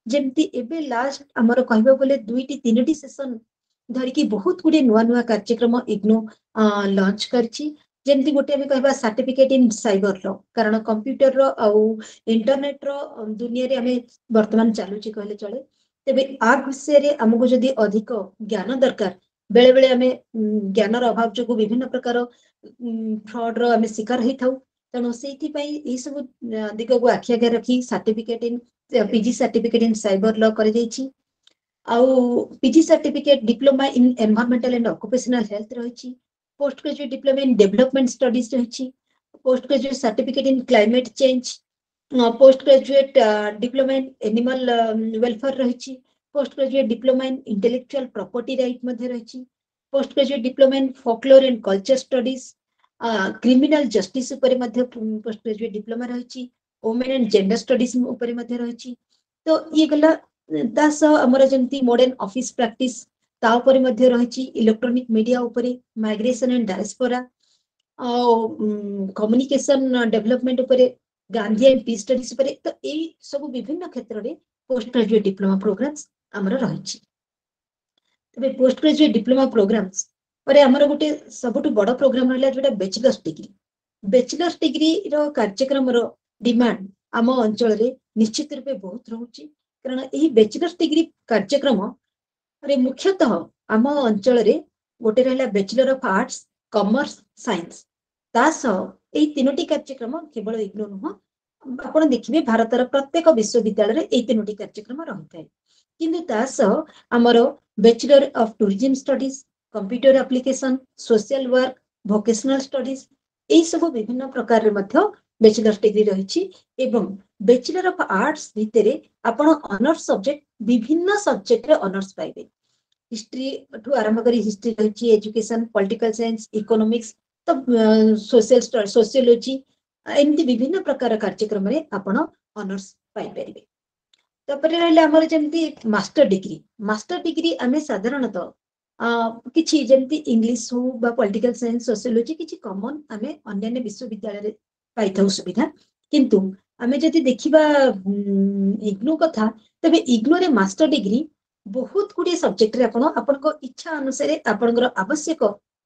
ଯେମିତି ଏବେ ଲାଷ୍ଟ ଆମର କହିବାକୁ ଗଲେ ଦୁଇଟି ତିନୋଟି ସେସନ ଧରିକି ବହୁତ ଗୁଡିଏ ନୂଆ ନୂଆ କାର୍ଯ୍ୟକ୍ରମ ଇଗ୍ନୋ ଲଞ୍ଚ କରିଛି। ଯେମିତି ଗୋଟେ ଆମେ କହିବା ସାର୍ଟିଫିକେଟ ଇନ୍ ସାଇବର ଲ, କାରଣ କମ୍ପ୍ୟୁଟରର ଆଉ ଇଣ୍ଟରନେଟର ଦୁନିଆରେ ଆମେ ବର୍ତ୍ତମାନ ଚାଲୁଛି କହିଲେ ଚଳେ। ତେବେ ଆ ବିଷୟରେ ଆମକୁ ଯଦି ଅଧିକ ଜ୍ଞାନ ଦରକାର, ବେଳେ ବେଳେ ଆମେ ଜ୍ଞାନର ଅଭାବ ଯୋଗୁଁ ବିଭିନ୍ନ ପ୍ରକାର ଫ୍ରଡର ଆମେ ଶିକାର ହେଇଥାଉ। ତେଣୁ ସେଇଥିପାଇଁ ଏଇ ସବୁ ଦିଗକୁ ଆଖି ଆଗରେ ରଖି certificate in PG certificate in cyber law କରାଯାଇଛି। ଆଉ PG certificate diploma in environmental and occupational health ରହିଛି, post graduate diploma in development studies ରହିଛି, post graduate certificate in climate change, post graduate diploma in animal welfare ରହିଛି, post graduate diploma in intellectual property right ମଧ୍ୟ ରହିଛି, post graduate diploma in folklore and culture studies, criminal justice ଉପରେ ମଧ୍ୟ post graduate diploma ରହିଛି, women and gender studies ଉପରେ ମଧ୍ୟ ରହିଛି। ତ ଇଏ ଗଲା। ତା ସହ ଆମର ଯେମିତି ମଡର୍ନ ଅଫିସ ପ୍ରାକ୍ଟିସ ତା ଉପରେ ମଧ୍ୟ ରହିଛି, ଇଲେକ୍ଟ୍ରୋନିକ ମିଡିଆ ଉପରେ, ମାଇଗ୍ରେସନ ଆଣ୍ଡ ଡାଏସ୍ପୋରା ଆଉ କମ୍ୟୁନିକେସନ ଡେଭଲପମେଣ୍ଟ ଉପରେ, ଗାନ୍ଧୀ ଆଣ୍ଡ ପିସ୍ ଷ୍ଟଡିଜ ଉପରେ। ତ ଏଇ ସବୁ ବିଭିନ୍ନ କ୍ଷେତ୍ରରେ ପୋଷ୍ଟ ଗ୍ରାଜୁଏଟ ଡିପ୍ଲୋମା ପ୍ରୋଗ୍ରାମସ ଆମର ରହିଛି। ତେବେ ପୋଷ୍ଟ ଗ୍ରାଜୁଏଟ ଡିପ୍ଲୋମା ପ୍ରୋଗ୍ରାମସ ପରେ ଆମର ଗୋଟେ ସବୁଠୁ ବଡ ପ୍ରୋଗ୍ରାମ ରହିଲା ଯୋଉଟା ବ୍ୟାଚଲର୍ସ ଡିଗ୍ରୀ। ବ୍ୟାଚଲର୍ସ ଡିଗ୍ରୀର କାର୍ଯ୍ୟକ୍ରମର ଡିମାଣ୍ଡ ଆମ ଅଞ୍ଚଳରେ ନିଶ୍ଚିତ ରୂପେ ବହୁତ ରହୁଛି, କାରଣ ଏହି ବ୍ୟାଚଲର୍ସ ଡିଗ୍ରୀ କାର୍ଯ୍ୟକ୍ରମରେ ମୁଖ୍ୟତଃ ଆମ ଅଞ୍ଚଳରେ ଗୋଟେ ରହିଲା bachelor of arts, commerce, science. ତା ସହ ଏଇ ତିନୋଟି କାର୍ଯ୍ୟକ୍ରମ କେବଳ ଇଗ୍ନୋ ନୁହଁ, ଆପଣ ଦେଖିବେ ଭାରତର ପ୍ରତ୍ୟେକ ବିଶ୍ୱବିଦ୍ୟାଳୟରେ ଏଇ ତିନୋଟି କାର୍ଯ୍ୟକ୍ରମ ରହିଥାଏ। କିନ୍ତୁ ତା ସହ ଆମର bachelor of tourism studies, computer application, social work, vocational studies, ଏଇ ସବୁ ବିଭିନ୍ନ ପ୍ରକାରରେ ମଧ୍ୟ ବ୍ୟାଚଲର୍ସ ଡିଗ୍ରୀ ରହିଛି। ଏବଂ ବ୍ୟାଚଲର ଅଫ ଆର୍ଟସ ଭିତରେ ଆପଣ ଅନର୍ସ ସବଜେକ୍ଟ, ବିଭିନ୍ନ ସବଜେକ୍ଟରେ ଅନର୍ସ ପାଇବେ। ହିଷ୍ଟ୍ରି ଠୁ ଆରମ୍ଭ କରି ହିଷ୍ଟ୍ରି ରହିଛି, ଏଜୁକେସନ, ପଲିଟିକାଲ ସାଇନ୍ସ, ଇକୋନୋମିକ୍ସ, ତ ସୋସିଆଲ ସୋସିଓଲୋଜି, ଏମିତି ବିଭିନ୍ନ ପ୍ରକାର କାର୍ଯ୍ୟକ୍ରମରେ ଆପଣ ଅନର୍ସ ପାଇପାରିବେ। ତାପରେ ରହିଲା ଆମର ଯେମିତି ମାଷ୍ଟର ଡିଗ୍ରୀ। ମାଷ୍ଟର ଡିଗ୍ରୀ ଆମେ ସାଧାରଣତଃ କିଛି ଯେମିତି ଇଂଲିଶ ହଉ ବା ପଲିଟିକାଲ ସାଇନ୍ସ, ସୋସିଓଲୋଜି, କିଛି କମନ ଆମେ ଅନ୍ୟାନ୍ୟ ବିଶ୍ୱବିଦ୍ୟାଳୟରେ ପାଇଥାଉ ସୁବିଧା। କିନ୍ତୁ ଆମେ ଯଦି ଦେଖିବା ଇଗ୍ନୋ କଥା, ତେବେ ଇଗ୍ନୋରେ ମାଷ୍ଟର ଡିଗ୍ରୀ ବହୁତ ଗୁଡିଏ ସବଜେକ୍ଟରେ ଆପଣ ଆପଣଙ୍କ ଇଚ୍ଛା ଅନୁସାରେ, ଆପଣଙ୍କର ଆବଶ୍ୟକ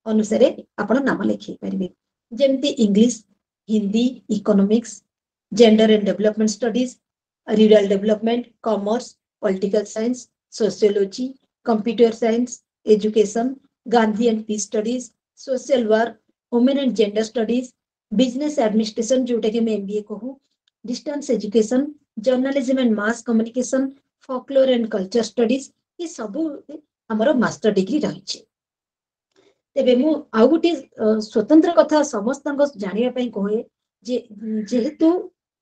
ଅନୁସାରେ ଆପଣ ନାମ ଲେଖେଇ ପାରିବେ। ଯେମିତି English, Hindi, economics, gender and development studies, rural development, commerce, political science, sociology, computer science, education, Gandhi and peace studies, social work, women and gender studies, business administration ଯୋଉଟା କି ଆମେ ଏମବିଏ କହୁ, distance education, journalism and mass communication, folklore and culture studies, ଏ ସବୁ ଆମର master degree ରହିଛି। ତେବେ ମୁଁ ଆଉ ଗୋଟିଏ ସ୍ୱତନ୍ତ୍ର କଥା ସମସ୍ତଙ୍କ ଜାଣିବା ପାଇଁ କହେ ଯେ ଯେହେତୁ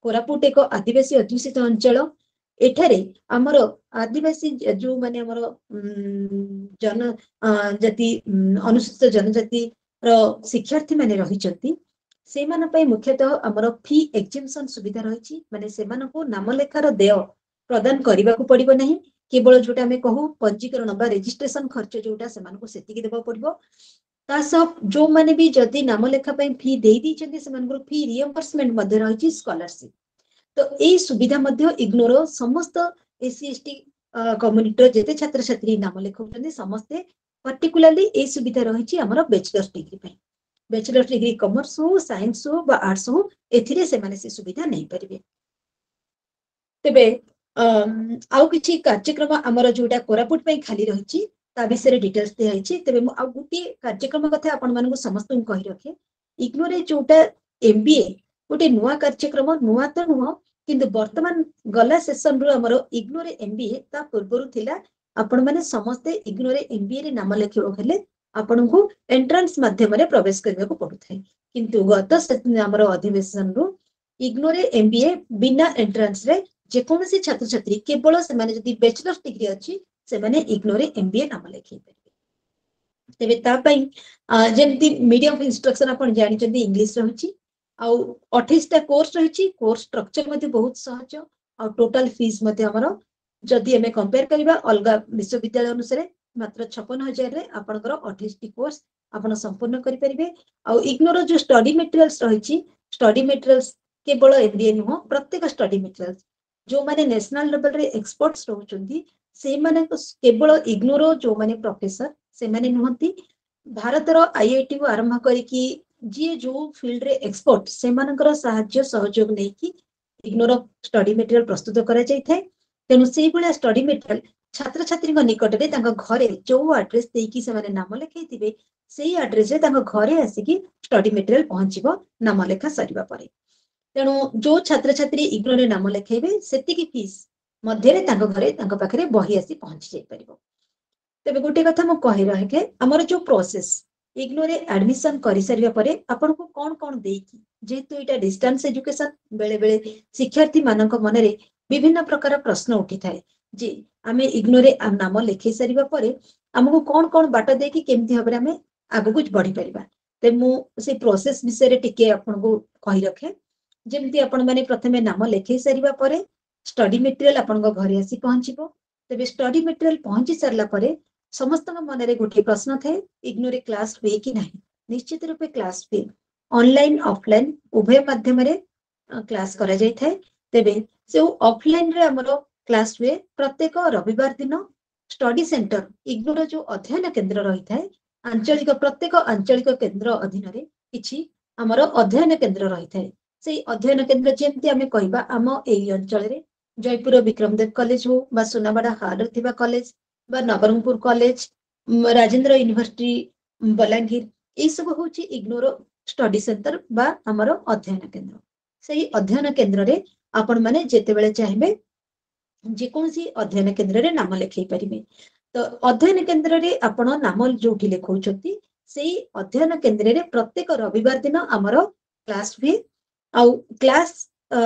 କୋରାପୁଟ ଏକ ଆଦିବାସୀ ଅଧ୍ୟୁଷିତ ଅଞ୍ଚଳ, ଏଠାରେ ଆମର ଆଦିବାସୀ ଯୋଉମାନେ ଆମର ଜନ ଜାତି, ଅନୁସୂଚିତ ଜନଜାତିର ଶିକ୍ଷାର୍ଥୀ ମାନେ ରହିଛନ୍ତି, ସେଇମାନଙ୍କ ପାଇଁ ମୁଖ୍ୟତଃ ଆମର ଫି ଏକ୍ଜିମ୍ପସନ ସୁବିଧା ରହିଛି। ମାନେ ସେମାନଙ୍କୁ ନାମଲେଖାର ଦେୟ ପ୍ରଦାନ କରିବାକୁ ପଡିବ ନାହିଁ, କେବଳ ଯୋଉଟା ଆମେ କହୁ ପଞ୍ଜୀକରଣ ବା ରେଜିଷ୍ଟ୍ରେସନ ଖର୍ଚ୍ଚ ଯୋଉଟା ସେମାନଙ୍କୁ ସେତିକି ଦେବାକୁ ପଡିବ। ତା ସହ ଯୋଉମାନେ ବି ଯଦି ନାମଲେଖା ପାଇଁ ଫି ଦେଇ ଦେଇଛନ୍ତି, ସେମାନଙ୍କର ଫି ରିଏମ୍ବର୍ସମେଣ୍ଟ ମଧ୍ୟ ରହିଛି, ସ୍କଲାରସିପ। ତ ଏଇ ସୁବିଧା ମଧ୍ୟ ଇଗ୍ନୋର ସମସ୍ତ ଏସସି ଏସଟି କମ୍ୟୁନିଟିର ଯେତେ ଛାତ୍ରଛାତ୍ରୀ ନାମ ଲେଖାଉଛନ୍ତି ସମସ୍ତେ ପର୍ଟିକୁଲାରଲି ଏଇ ସୁବିଧା ରହିଛି ଆମର ବ୍ୟାଚଲର୍ସ ଡିଗ୍ରୀ ପାଇଁ। ବ୍ୟାଚଲର୍ସ ଡିଗ୍ରୀ କମର୍ସ ହଉ, ସାଇନ୍ସ ହଉ ବା ଆର୍ଟସ ହଉ, ଏଥିରେ ସେମାନେ ସେ ସୁବିଧା ନେଇପାରିବେ। ତେବେ ଆଉ କିଛି କାର୍ଯ୍ୟକ୍ରମ ଆମର ଯୋଉଟା କୋରାପୁଟ ପାଇଁ ଖାଲି ରହିଛି ତା ବିଷୟରେ ଡିଟେଲ୍ସ ଦିଆହେଇଛି। ତେବେ ମୁଁ ଆଉ ଗୋଟିଏ କାର୍ଯ୍ୟକ୍ରମ କଥା ଆପଣମାନଙ୍କୁ ସମସ୍ତଙ୍କୁ କହି ରଖେ, ଇଗ୍ନୋରେ ଯୋଉଟା ଏମବିଏ ଗୋଟେ ନୂଆ କାର୍ଯ୍ୟକ୍ରମ, ନୂଆ ତ ନୁହଁ କିନ୍ତୁ ବର୍ତ୍ତମାନ ଗଲା ସେସନରୁ ଆମର ଇଗ୍ନୋରେ ଏମବିଏ, ତା ପୂର୍ବରୁ ଥିଲା ଆପଣମାନେ ସମସ୍ତେ ଇଗ୍ନୋରେ ଏମବିଏ ରେ ନାମ ଲେଖିବାକୁ ହେଲେ ଆପଣଙ୍କୁ ଏଣ୍ଟ୍ରାନ୍ସ ମାଧ୍ୟମରେ ପ୍ରବେଶ କରିବାକୁ ପଡୁଥାଏ। କିନ୍ତୁ ଗତ ଆମର ଅଧିବେଶନରୁ ଇଗ୍ନୋରେ ଏମବିଏ ବିନା ଏଣ୍ଟ୍ରାନ୍ସରେ ଯେକୌଣସି ଛାତ୍ରଛାତ୍ରୀ, କେବଳ ସେମାନେ ଯଦି ବ୍ୟାଚଲର୍ସ ଡିଗ୍ରୀ ଅଛି, ସେମାନେ ଇଗ୍ନୋରେ ଏମବିଏ ନାମ ଲେଖେଇ ପାରିବେ। ତେବେ ତା ପାଇଁ ଯେମିତି ମିଡିୟମ ଅଫ ଇନଷ୍ଟ୍ରକ୍ସନ ଆପଣ ଜାଣିଛନ୍ତି ଇଂଲିଶ ରହିଛି, ଆଉ 28ଟା କୋର୍ସ ରହିଛି। କୋର୍ସ ଷ୍ଟ୍ରକ୍ଚର ମଧ୍ୟ ବହୁତ ସହଜ, ଆଉ ଟୋଟାଲ ଫିସ୍ ମଧ୍ୟ ଆମର ଯଦି ଆମେ କମ୍ପେୟାର କରିବା ଅଲଗା ବିଶ୍ୱବିଦ୍ୟାଳୟ ଅନୁସାରେ ମାତ୍ର 56,000ରେ ଆପଣଙ୍କର 28ଟି କୋର୍ସ ଆପଣ ସମ୍ପୂର୍ଣ୍ଣ କରିପାରିବେ। ଆଉ ଇଗ୍ନୋର ଯୋଉ ଷ୍ଟଡି ମେଟେରିଆଲ୍ସ ରହିଛି, ଷ୍ଟଡି ମେଟେରିଆଲ୍ସ କେବଳ ଏମବିଏ ନୁହଁ, ପ୍ରତ୍ୟେକ ଷ୍ଟଡି ମେଟେରିଆଲ୍ସ ଯୋଉମାନେ ନ୍ୟାସନାଲ ଲେଭେଲରେ ଏକ୍ସପର୍ଟସ ରହୁଛନ୍ତି ସେଇମାନଙ୍କ, କେବଳ ଇଗ୍ନୋର ଯୋଉମାନେ ପ୍ରଫେସର ସେମାନେ ନୁହନ୍ତି। ଭାରତର ଆଇଆଇଟି କୁ ଆରମ୍ଭ କରିକି ଯିଏ ଯୋଉ ଫିଲ୍ଡରେ ଏକ୍ସପର୍ଟ, ସେମାନଙ୍କର ସାହାଯ୍ୟ ସହଯୋଗ ନେଇକି ଇଗ୍ନୋର ଷ୍ଟଡି ମେଟେରିଆଲ ପ୍ରସ୍ତୁତ କରାଯାଇଥାଏ। ତେଣୁ ସେଇଭଳିଆ ଷ୍ଟଡି ମେଟେରିଆଲ ଛାତ୍ରଛାତ୍ରୀଙ୍କ ନିକଟରେ ତାଙ୍କ ଘରେ ଯୋଉ ଆଡ୍ରେସ ଦେଇକି ସେମାନେ ନାମ ଲେଖେଇଥିବେ, ସେଇ ଆଡ୍ରେସରେ ତାଙ୍କ ଘରେ ଆସିକି ଷ୍ଟଡି ମେଟେରିଆଲ ପହଞ୍ଚିବ ନାମ ଲେଖା ସରିବା ପରେ। ତେଣୁ ଯୋଉ ଛାତ୍ରଛାତ୍ରୀ ଇଗ୍ନୋରେ ନାମ ଲେଖେଇବେ, ସେତିକି ଫିସ୍ ମଧ୍ୟରେ ତାଙ୍କ ଘରେ ତାଙ୍କ ପାଖରେ ବହି ଆସି ପହଞ୍ଚି ଯାଇପାରିବ। ତେବେ ଗୋଟେ କଥା ମୁଁ କହି ରଖେ, ଆମର ଯୋଉ ପ୍ରୋସେସ ଇଗ୍ନୋରେ ଆଡମିସନ କରିସାରିବା ପରେ ଆପଣଙ୍କୁ କଣ କଣ ଦେଇକି, ଯେହେତୁ ଏଇଟା ଡିଷ୍ଟାନ୍ସ ଏଜୁକେସନ, ବେଳେ ବେଳେ ଶିକ୍ଷାର୍ଥୀ ମାନଙ୍କ ମନରେ ବିଭିନ୍ନ ପ୍ରକାର ପ୍ରଶ୍ନ ଉଠିଥାଏ ଯେ ଆମେ ଇଗ୍ନୋରେ ନାମ ଲେଖେଇ ସାରିବା ପରେ ଆମକୁ କଣ କଣ ବାଟ ଦେଇକି କେମିତି ଭାବରେ ଆମେ ଆଗକୁ ବଢିପାରିବା। ତେବେ ମୁଁ ସେଇ ପ୍ରୋସେସ ବିଷୟରେ ଟିକେ ଆପଣଙ୍କୁ କହି ରଖେ। ଯେମିତି ଆପଣ ମାନେ ପ୍ରଥମେ ନାମ ଲେଖେଇ ସାରିବା ପରେ ଷ୍ଟଡି ମେଟେରିଆଲ ଆପଣଙ୍କ ଘରେ ଆସି ପହଞ୍ଚିବ। ତେବେ ଷ୍ଟଡି ମେଟେରିଆଲ ପହଞ୍ଚି ସାରିଲା ପରେ ସମସ୍ତଙ୍କ ମନରେ ଗୋଟିଏ ପ୍ରଶ୍ନ ଥାଏ, ଇଗ୍ନୋରେ କ୍ଲାସ ହୁଏ କି ନାହିଁ? ନିଶ୍ଚିତ ରୂପେ କ୍ଲାସ ହୁଏ। ଅନଲାଇନ ଅଫଲାଇନ ଉଭୟ ମାଧ୍ୟମରେ କ୍ଲାସ କରାଯାଇଥାଏ। ତେବେ ଯୋଉ ଅଫଲାଇନରେ ଆମର କ୍ଲାସ ହୁଏ, ପ୍ରତ୍ୟେକ ରବିବାର ଦିନ ଷ୍ଟଡି ସେଣ୍ଟର, ଇଗ୍ନୋର ଯୋଉ ଅଧ୍ୟୟନ କେନ୍ଦ୍ର ରହିଥାଏ, ଆଞ୍ଚଳିକ ପ୍ରତ୍ୟେକ ଆଞ୍ଚଳିକ କେନ୍ଦ୍ର ଅଧୀନରେ କିଛି ଆମର ଅଧ୍ୟୟନ କେନ୍ଦ୍ର ରହିଥାଏ। ସେଇ ଅଧ୍ୟୟନ କେନ୍ଦ୍ର, ଯେମିତି ଆମେ କହିବା ଆମ ଏଇ ଅଞ୍ଚଳରେ ଜୟପୁର ବିକ୍ରମଦେବ କଲେଜ ହଉ ବା ସୁନାବାଡା ହାରରେ ଥିବା କଲେଜ ବା ନବରଙ୍ଗପୁର କଲେଜ, ରାଜେନ୍ଦ୍ର ୟୁନିଭର୍ସିଟି ବଲାଙ୍ଗୀର, ଏଇ ସବୁ ହଉଛି ଇଗ୍ନୋର ଷ୍ଟଡି ସେଣ୍ଟର ବା ଆମର ଅଧ୍ୟୟନ କେନ୍ଦ୍ର। ସେଇ ଅଧ୍ୟୟନ କେନ୍ଦ୍ରରେ ଆପଣ ମାନେ ଯେତେବେଳେ ଚାହିଁବେ ଯେକୌଣସି ଅଧ୍ୟୟନ କେନ୍ଦ୍ରରେ ନାମ ଲେଖେଇ ପାରିବେ। ତ ଅଧ୍ୟୟନ କେନ୍ଦ୍ରରେ ଆପଣ ନାମ ଯୋଉଠି ଲେଖଉଛନ୍ତି, ସେଇ ଅଧ୍ୟୟନ କେନ୍ଦ୍ରରେ ପ୍ରତ୍ୟେକ ରବିବାର ଦିନ ଆମର କ୍ଲାସ ହୁଏ। ଆଉ କ୍ଲାସ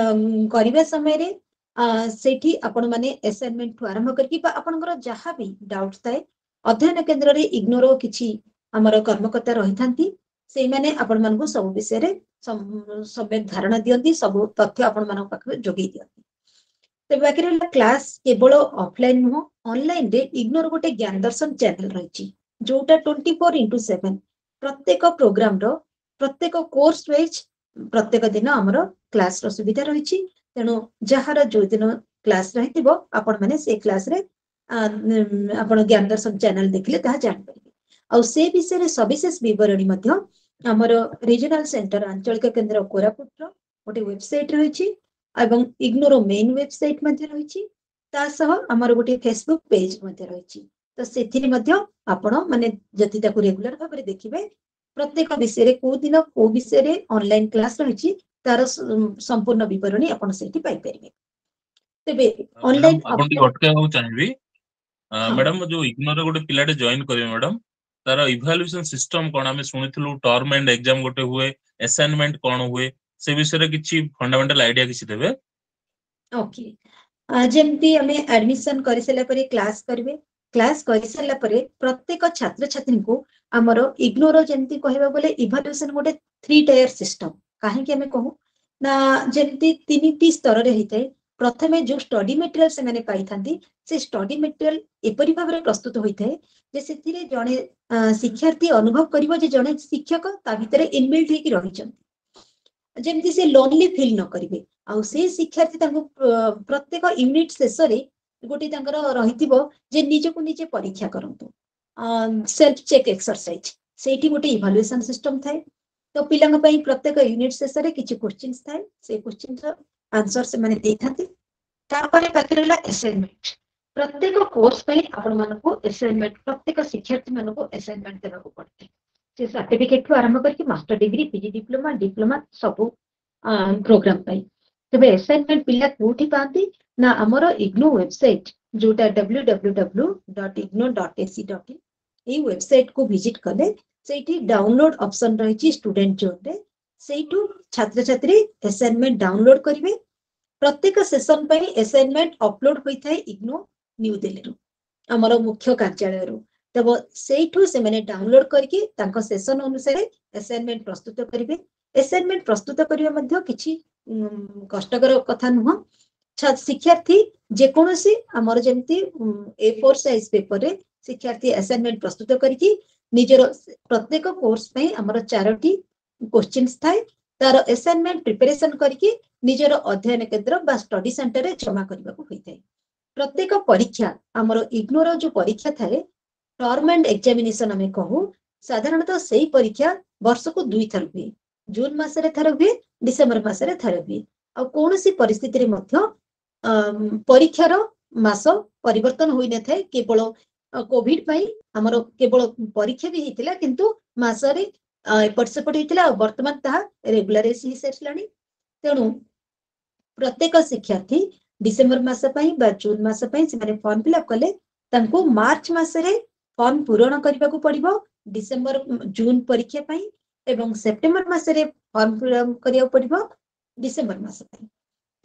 କରିବା ସମୟରେ ସେଇଠି ଆପଣ ମାନେ ଆସାଇନମେଣ୍ଟ ଠୁ ଆରମ୍ଭ କରିକି ବା ଆପଣଙ୍କର ଯାହା ବି ଡାଉଟ ଥାଏ, ଅଧ୍ୟୟନ କେନ୍ଦ୍ରରେ ଇଗ୍ନୋର କିଛି ଆମର କର୍ମକର୍ତ୍ତା ରହିଥାନ୍ତି। ସେଇମାନେ ଆପଣ ମାନଙ୍କୁ ସବୁ ବିଷୟରେ ସମ୍ୟକ ଧାରଣା ଦିଅନ୍ତି, ସବୁ ତଥ୍ୟ ଆପଣ ମାନଙ୍କ ପାଖରେ ଯୋଗେଇ ଦିଅନ୍ତି। ତେବେ ବାକି ରହିଲା କ୍ଲାସ କେବଳ ଅଫଲାଇନ ନୁହଁ, ଅନଲାଇନରେ ଇଗ୍ନୋର ଗୋଟେ ଜ୍ଞାନ ଦର୍ଶନ ଚ୍ୟାନେଲ ରହିଛି, ଯୋଉଟା 24x7 ପ୍ରତ୍ୟେକ ପ୍ରୋଗ୍ରାମର ପ୍ରତ୍ୟେକ କୋର୍ସ ୱାଇଜ ପ୍ରତ୍ୟେକ ଦିନ ଆମର କ୍ଲାସର ସୁବିଧା ରହିଛି। ତେଣୁ ଯାହାର ଯୋଉ ଦିନ କ୍ଲାସ ରହିଥିବ, ଆପଣ ମାନେ ସେଇ କ୍ଲାସରେ ଆପଣ ଜ୍ଞାନ ଦର୍ଶନ ଚ୍ୟାନେଲ ଦେଖିଲେ ତାହା ଜାଣିପାରିବେ। ଆଉ ସେ ବିଷୟରେ ସବିଶେଷ ବିବରଣୀ ମଧ୍ୟ ଆମର ରିଜନାଲ ସେଣ୍ଟର, ଆଞ୍ଚଳିକ କେନ୍ଦ୍ର କୋରାପୁଟର ଗୋଟେ ୱେବସାଇଟ ରହିଛି ଏବଂ ଇଗ୍ନୋର ମେନ୍ ୱେବସାଇଟ ମଧ୍ୟ ରହିଛି। ତା ସହ ଆମର ଗୋଟେ ଫେସବୁକ୍ ପେଜ ମଧ୍ୟ ରହିଛି। ତ ସେଥିରେ ମଧ୍ୟ ଆପଣ ମାନେ ଯଦି ତାକୁ ରେଗୁଲାର ଭାବରେ ଦେଖିବେ, ପ୍ରତ୍ୟେକ ବିଷୟରେ କୋଉ ଦିନ କୋଉ ବିଷୟରେ ଅନଲାଇନ କ୍ଲାସ ରହିଛି, ତାର ସମ୍ପୂର୍ଣ୍ଣ ବିବରଣୀ ଆପଣ ସେଇଠି ପାଇପାରିବେ। ତେବେ ମ୍ୟାଡାମ, ଅନଲାଇନ ଆପଣ ଟିକେ ଅଟକେଇବାକୁ ଚାହିଁବି। ହଁ। ମ୍ୟାଡାମ, ଯୋଉ ଇଗ୍ନୋର ଗୋଟେ ପିଲାଟେ ଜଏନ କରିବେ ମ୍ୟାଡାମ, ତାର ଇଭାଲୁଏସନ ସିଷ୍ଟମ କଣ? ଆମେ ଶୁଣିଥିଲୁ ଟର୍ମ ଏଣ୍ଡ ଏକ୍ସାମ ଗୋଟେ ହୁଏ, ଆସାଇନମେଣ୍ଟ କଣ ହୁଏ, ସେ ବିଷୟରେ କିଛି ଫଣ୍ଡାମେଣ୍ଟାଲ ଆଇଡିଆ କିଛି ଦେବେ। ଓକେ, ଯେମିତି ଆମେ ଆଡମିସନ କରିସାରିଲା ପରେ କ୍ଲାସ କରିବେ। କ୍ଲାସ କରିସାରିଲା ପରେ ପ୍ରତ୍ୟେକ ଛାତ୍ରଛାତ୍ରୀଙ୍କୁ ଆମର ଇଗ୍ନୋର ଯେମିତି କହିବାକୁ ଗଲେ ଇଭାଲୁଏସନ ଗୋଟେ ଥ୍ରୀ ଟାୟାର ସିଷ୍ଟମ। କାହିଁକି ଆମେ କହୁ ନା ଯେମିତି ତିନିଟି ସ୍ତରରେ ହେଇଥାଏ। ପ୍ରଥମେ ଯୋଉ ଷ୍ଟଡି ମେଟେରିଆଲ ସେମାନେ ପାଇଥାନ୍ତି, ସେ ଷ୍ଟଡି ମେଟେରିଆଲ ଏପରି ଭାବରେ ପ୍ରସ୍ତୁତ ହୋଇଥାଏ ଯେ ସେଥିରେ ଜଣେ ଶିକ୍ଷାର୍ଥୀ ଅନୁଭବ କରିବ ଯେ ଜଣେ ଶିକ୍ଷକ ତା ଭିତରେ ଇନବିଲ୍ଟ ହେଇକି ରହିଛନ୍ତି, ଯେମିତି ସେ ଲୋନଲି ଫିଲ୍ ନ କରିବେ। ଆଉ ସେ ଶିକ୍ଷାର୍ଥୀ ତାଙ୍କୁ ପ୍ରତ୍ୟେକ ୟୁନିଟ ଶେଷରେ ଗୋଟେ ତାଙ୍କର ରହିଥିବ ଯେ ନିଜକୁ ନିଜେ ପରୀକ୍ଷା କରନ୍ତୁ, ସେଲ୍ଫ ଚେକ୍ ଏକ୍ସରସାଇଜ। ସେଇଠି ଗୋଟେ ଇଭାଲୁଏସନ ସିଷ୍ଟମ ଥାଏ। ତ ପିଲାଙ୍କ ପାଇଁ ପ୍ରତ୍ୟେକ ୟୁନିଟ ଶେଷରେ କିଛି କୋଶ୍ଚିନ୍ସ ଥାଏ, ସେଇ କୋଶ୍ଚିନ୍ର ଆନ୍ସର ସେମାନେ ଦେଇଥାନ୍ତି। ତାପରେ ବାକି ରହିଲା ଆସାଇନମେଣ୍ଟ। ପ୍ରତ୍ୟେକ କୋର୍ସ ପାଇଁ ଆପଣ ମାନଙ୍କୁ ଆସାଇନମେଣ୍ଟ, ପ୍ରତ୍ୟେକ ଶିକ୍ଷାର୍ଥୀ ମାନଙ୍କୁ ଆସାଇନମେଣ୍ଟ ଦେବାକୁ ପଡିଥାଏ। ସେ ସାର୍ଟିଫିକେଟ ଠୁ ଆରମ୍ଭ କରିକି master degree, PG diploma, diploma ସବୁ ପ୍ରୋଗ୍ରାମ ପାଇଁ। ତେବେ ଆସାଇନମେଣ୍ଟ ପିଲା କୋଉଠି ପାଆନ୍ତି ନା ଆମର ଇଗ୍ନୋ ୱେବସାଇଟ, ଯୋଉଟା www.ignou.ac.in, ଏଇ ୱେବସାଇଟ କୁ ଭିଜିଟ କଲେ ସେଇଠି ଡାଉନଲୋଡ ଅପସନ ରହିଛି ଷ୍ଟୁଡେଣ୍ଟ ଜୋନରେ। ସେଇଠୁ ଛାତ୍ରଛାତ୍ରୀ ଆସାଇନମେଣ୍ଟ ଡାଉନଲୋଡ କରିବେ। ପ୍ରତ୍ୟେକ ସେସନ ପାଇଁ ଆସାଇନମେଣ୍ଟ ଅପଲୋଡ ହୋଇଥାଏ ଇଗ୍ନୋ ନ୍ୟୁ ଦିଲ୍ଲୀରୁ, ଆମର ମୁଖ୍ୟ କାର୍ଯ୍ୟାଳୟରୁ। ତେବେ ସେଇଠୁ ସେମାନେ ଡାଉନଲୋଡ କରିକି ତାଙ୍କ ସେସନ ଅନୁସାରେ ଆସାଇନମେଣ୍ଟ ପ୍ରସ୍ତୁତ କରିବେ। ଆସାଇନମେଣ୍ଟ ପ୍ରସ୍ତୁତ କରିବା ମଧ୍ୟ କିଛି କଷ୍ଟକର କଥା ନୁହଁ। ଶିକ୍ଷାର୍ଥୀ ଯେକୌଣସି ଆମର ଯେମିତି ଏ ଫୋର ସାଇଜ ପେପରରେ ଶିକ୍ଷାର୍ଥୀ ଆସାଇନମେଣ୍ଟ ପ୍ରସ୍ତୁତ କରିକି ନିଜର ପ୍ରତ୍ୟେକ କୋର୍ସ ପାଇଁ ଆମର ଚାରୋଟି କୋଶ୍ଚିନ୍ସ ଥାଏ, ତାର ଆସାଇନମେଣ୍ଟ ପ୍ରିପାରେସନ କରିକି ନିଜର ଅଧ୍ୟୟନ କେନ୍ଦ୍ର ବା ଷ୍ଟଡି ସେଣ୍ଟରରେ ଜମା କରିବାକୁ ହୋଇଥାଏ। ପ୍ରତ୍ୟେକ ପରୀକ୍ଷା, ଆମର ଇଗ୍ନୋର ଯୋଉ ପରୀକ୍ଷା ଥାଏ, ଟର୍ମ ଆଣ୍ଡ ଏକ୍ଜାମିନେସନ ଆମେ କହୁ, ସାଧାରଣତଃ ସେଇ ପରୀକ୍ଷା ବର୍ଷକୁ 2 ଥର ହୁଏ। ଜୁନ ମାସରେ ଥରେ ହୁଏ, ଡିସେମ୍ବର ମାସରେ ଥରେ ହୁଏ। ଆଉ କୌଣସି ପରିସ୍ଥିତିରେ ମଧ୍ୟ ପରୀକ୍ଷାର ମାସ ପରିବର୍ତ୍ତନ ହୋଇନଥାଏ। କେବଳ କୋଭିଡ ପାଇଁ ଆମର କେବଳ ପରୀକ୍ଷା ବି ହେଇଥିଲା, କିନ୍ତୁ ମାସରେ ଏପଟ ସେପଟ ହେଇଥିଲା। ଆଉ ବର୍ତ୍ତମାନ ତାହା ରେଗୁଲାରାଇଜ ହେଇସାରିଲାଣି। ତେଣୁ ପ୍ରତ୍ୟେକ ଶିକ୍ଷାର୍ଥୀ ଡିସେମ୍ବର ମାସ ପାଇଁ ବା ଜୁନ ମାସ ପାଇଁ ସେମାନେ ଫର୍ମ ଫିଲ୍ଅପ୍ କଲେ ତାଙ୍କୁ ମାର୍ଚ୍ଚ ମାସରେ ଫର୍ମ ପୂରଣ କରିବାକୁ ପଡିବ ଡିସେମ୍ବର ଜୁନ ପରୀକ୍ଷା ପାଇଁ ଏବଂ ସେପ୍ଟେମ୍ବର ମାସରେ ଫର୍ମ ପୂରଣ କରିବାକୁ ପଡିବ ଡିସେମ୍ବର ମାସ ପାଇଁ।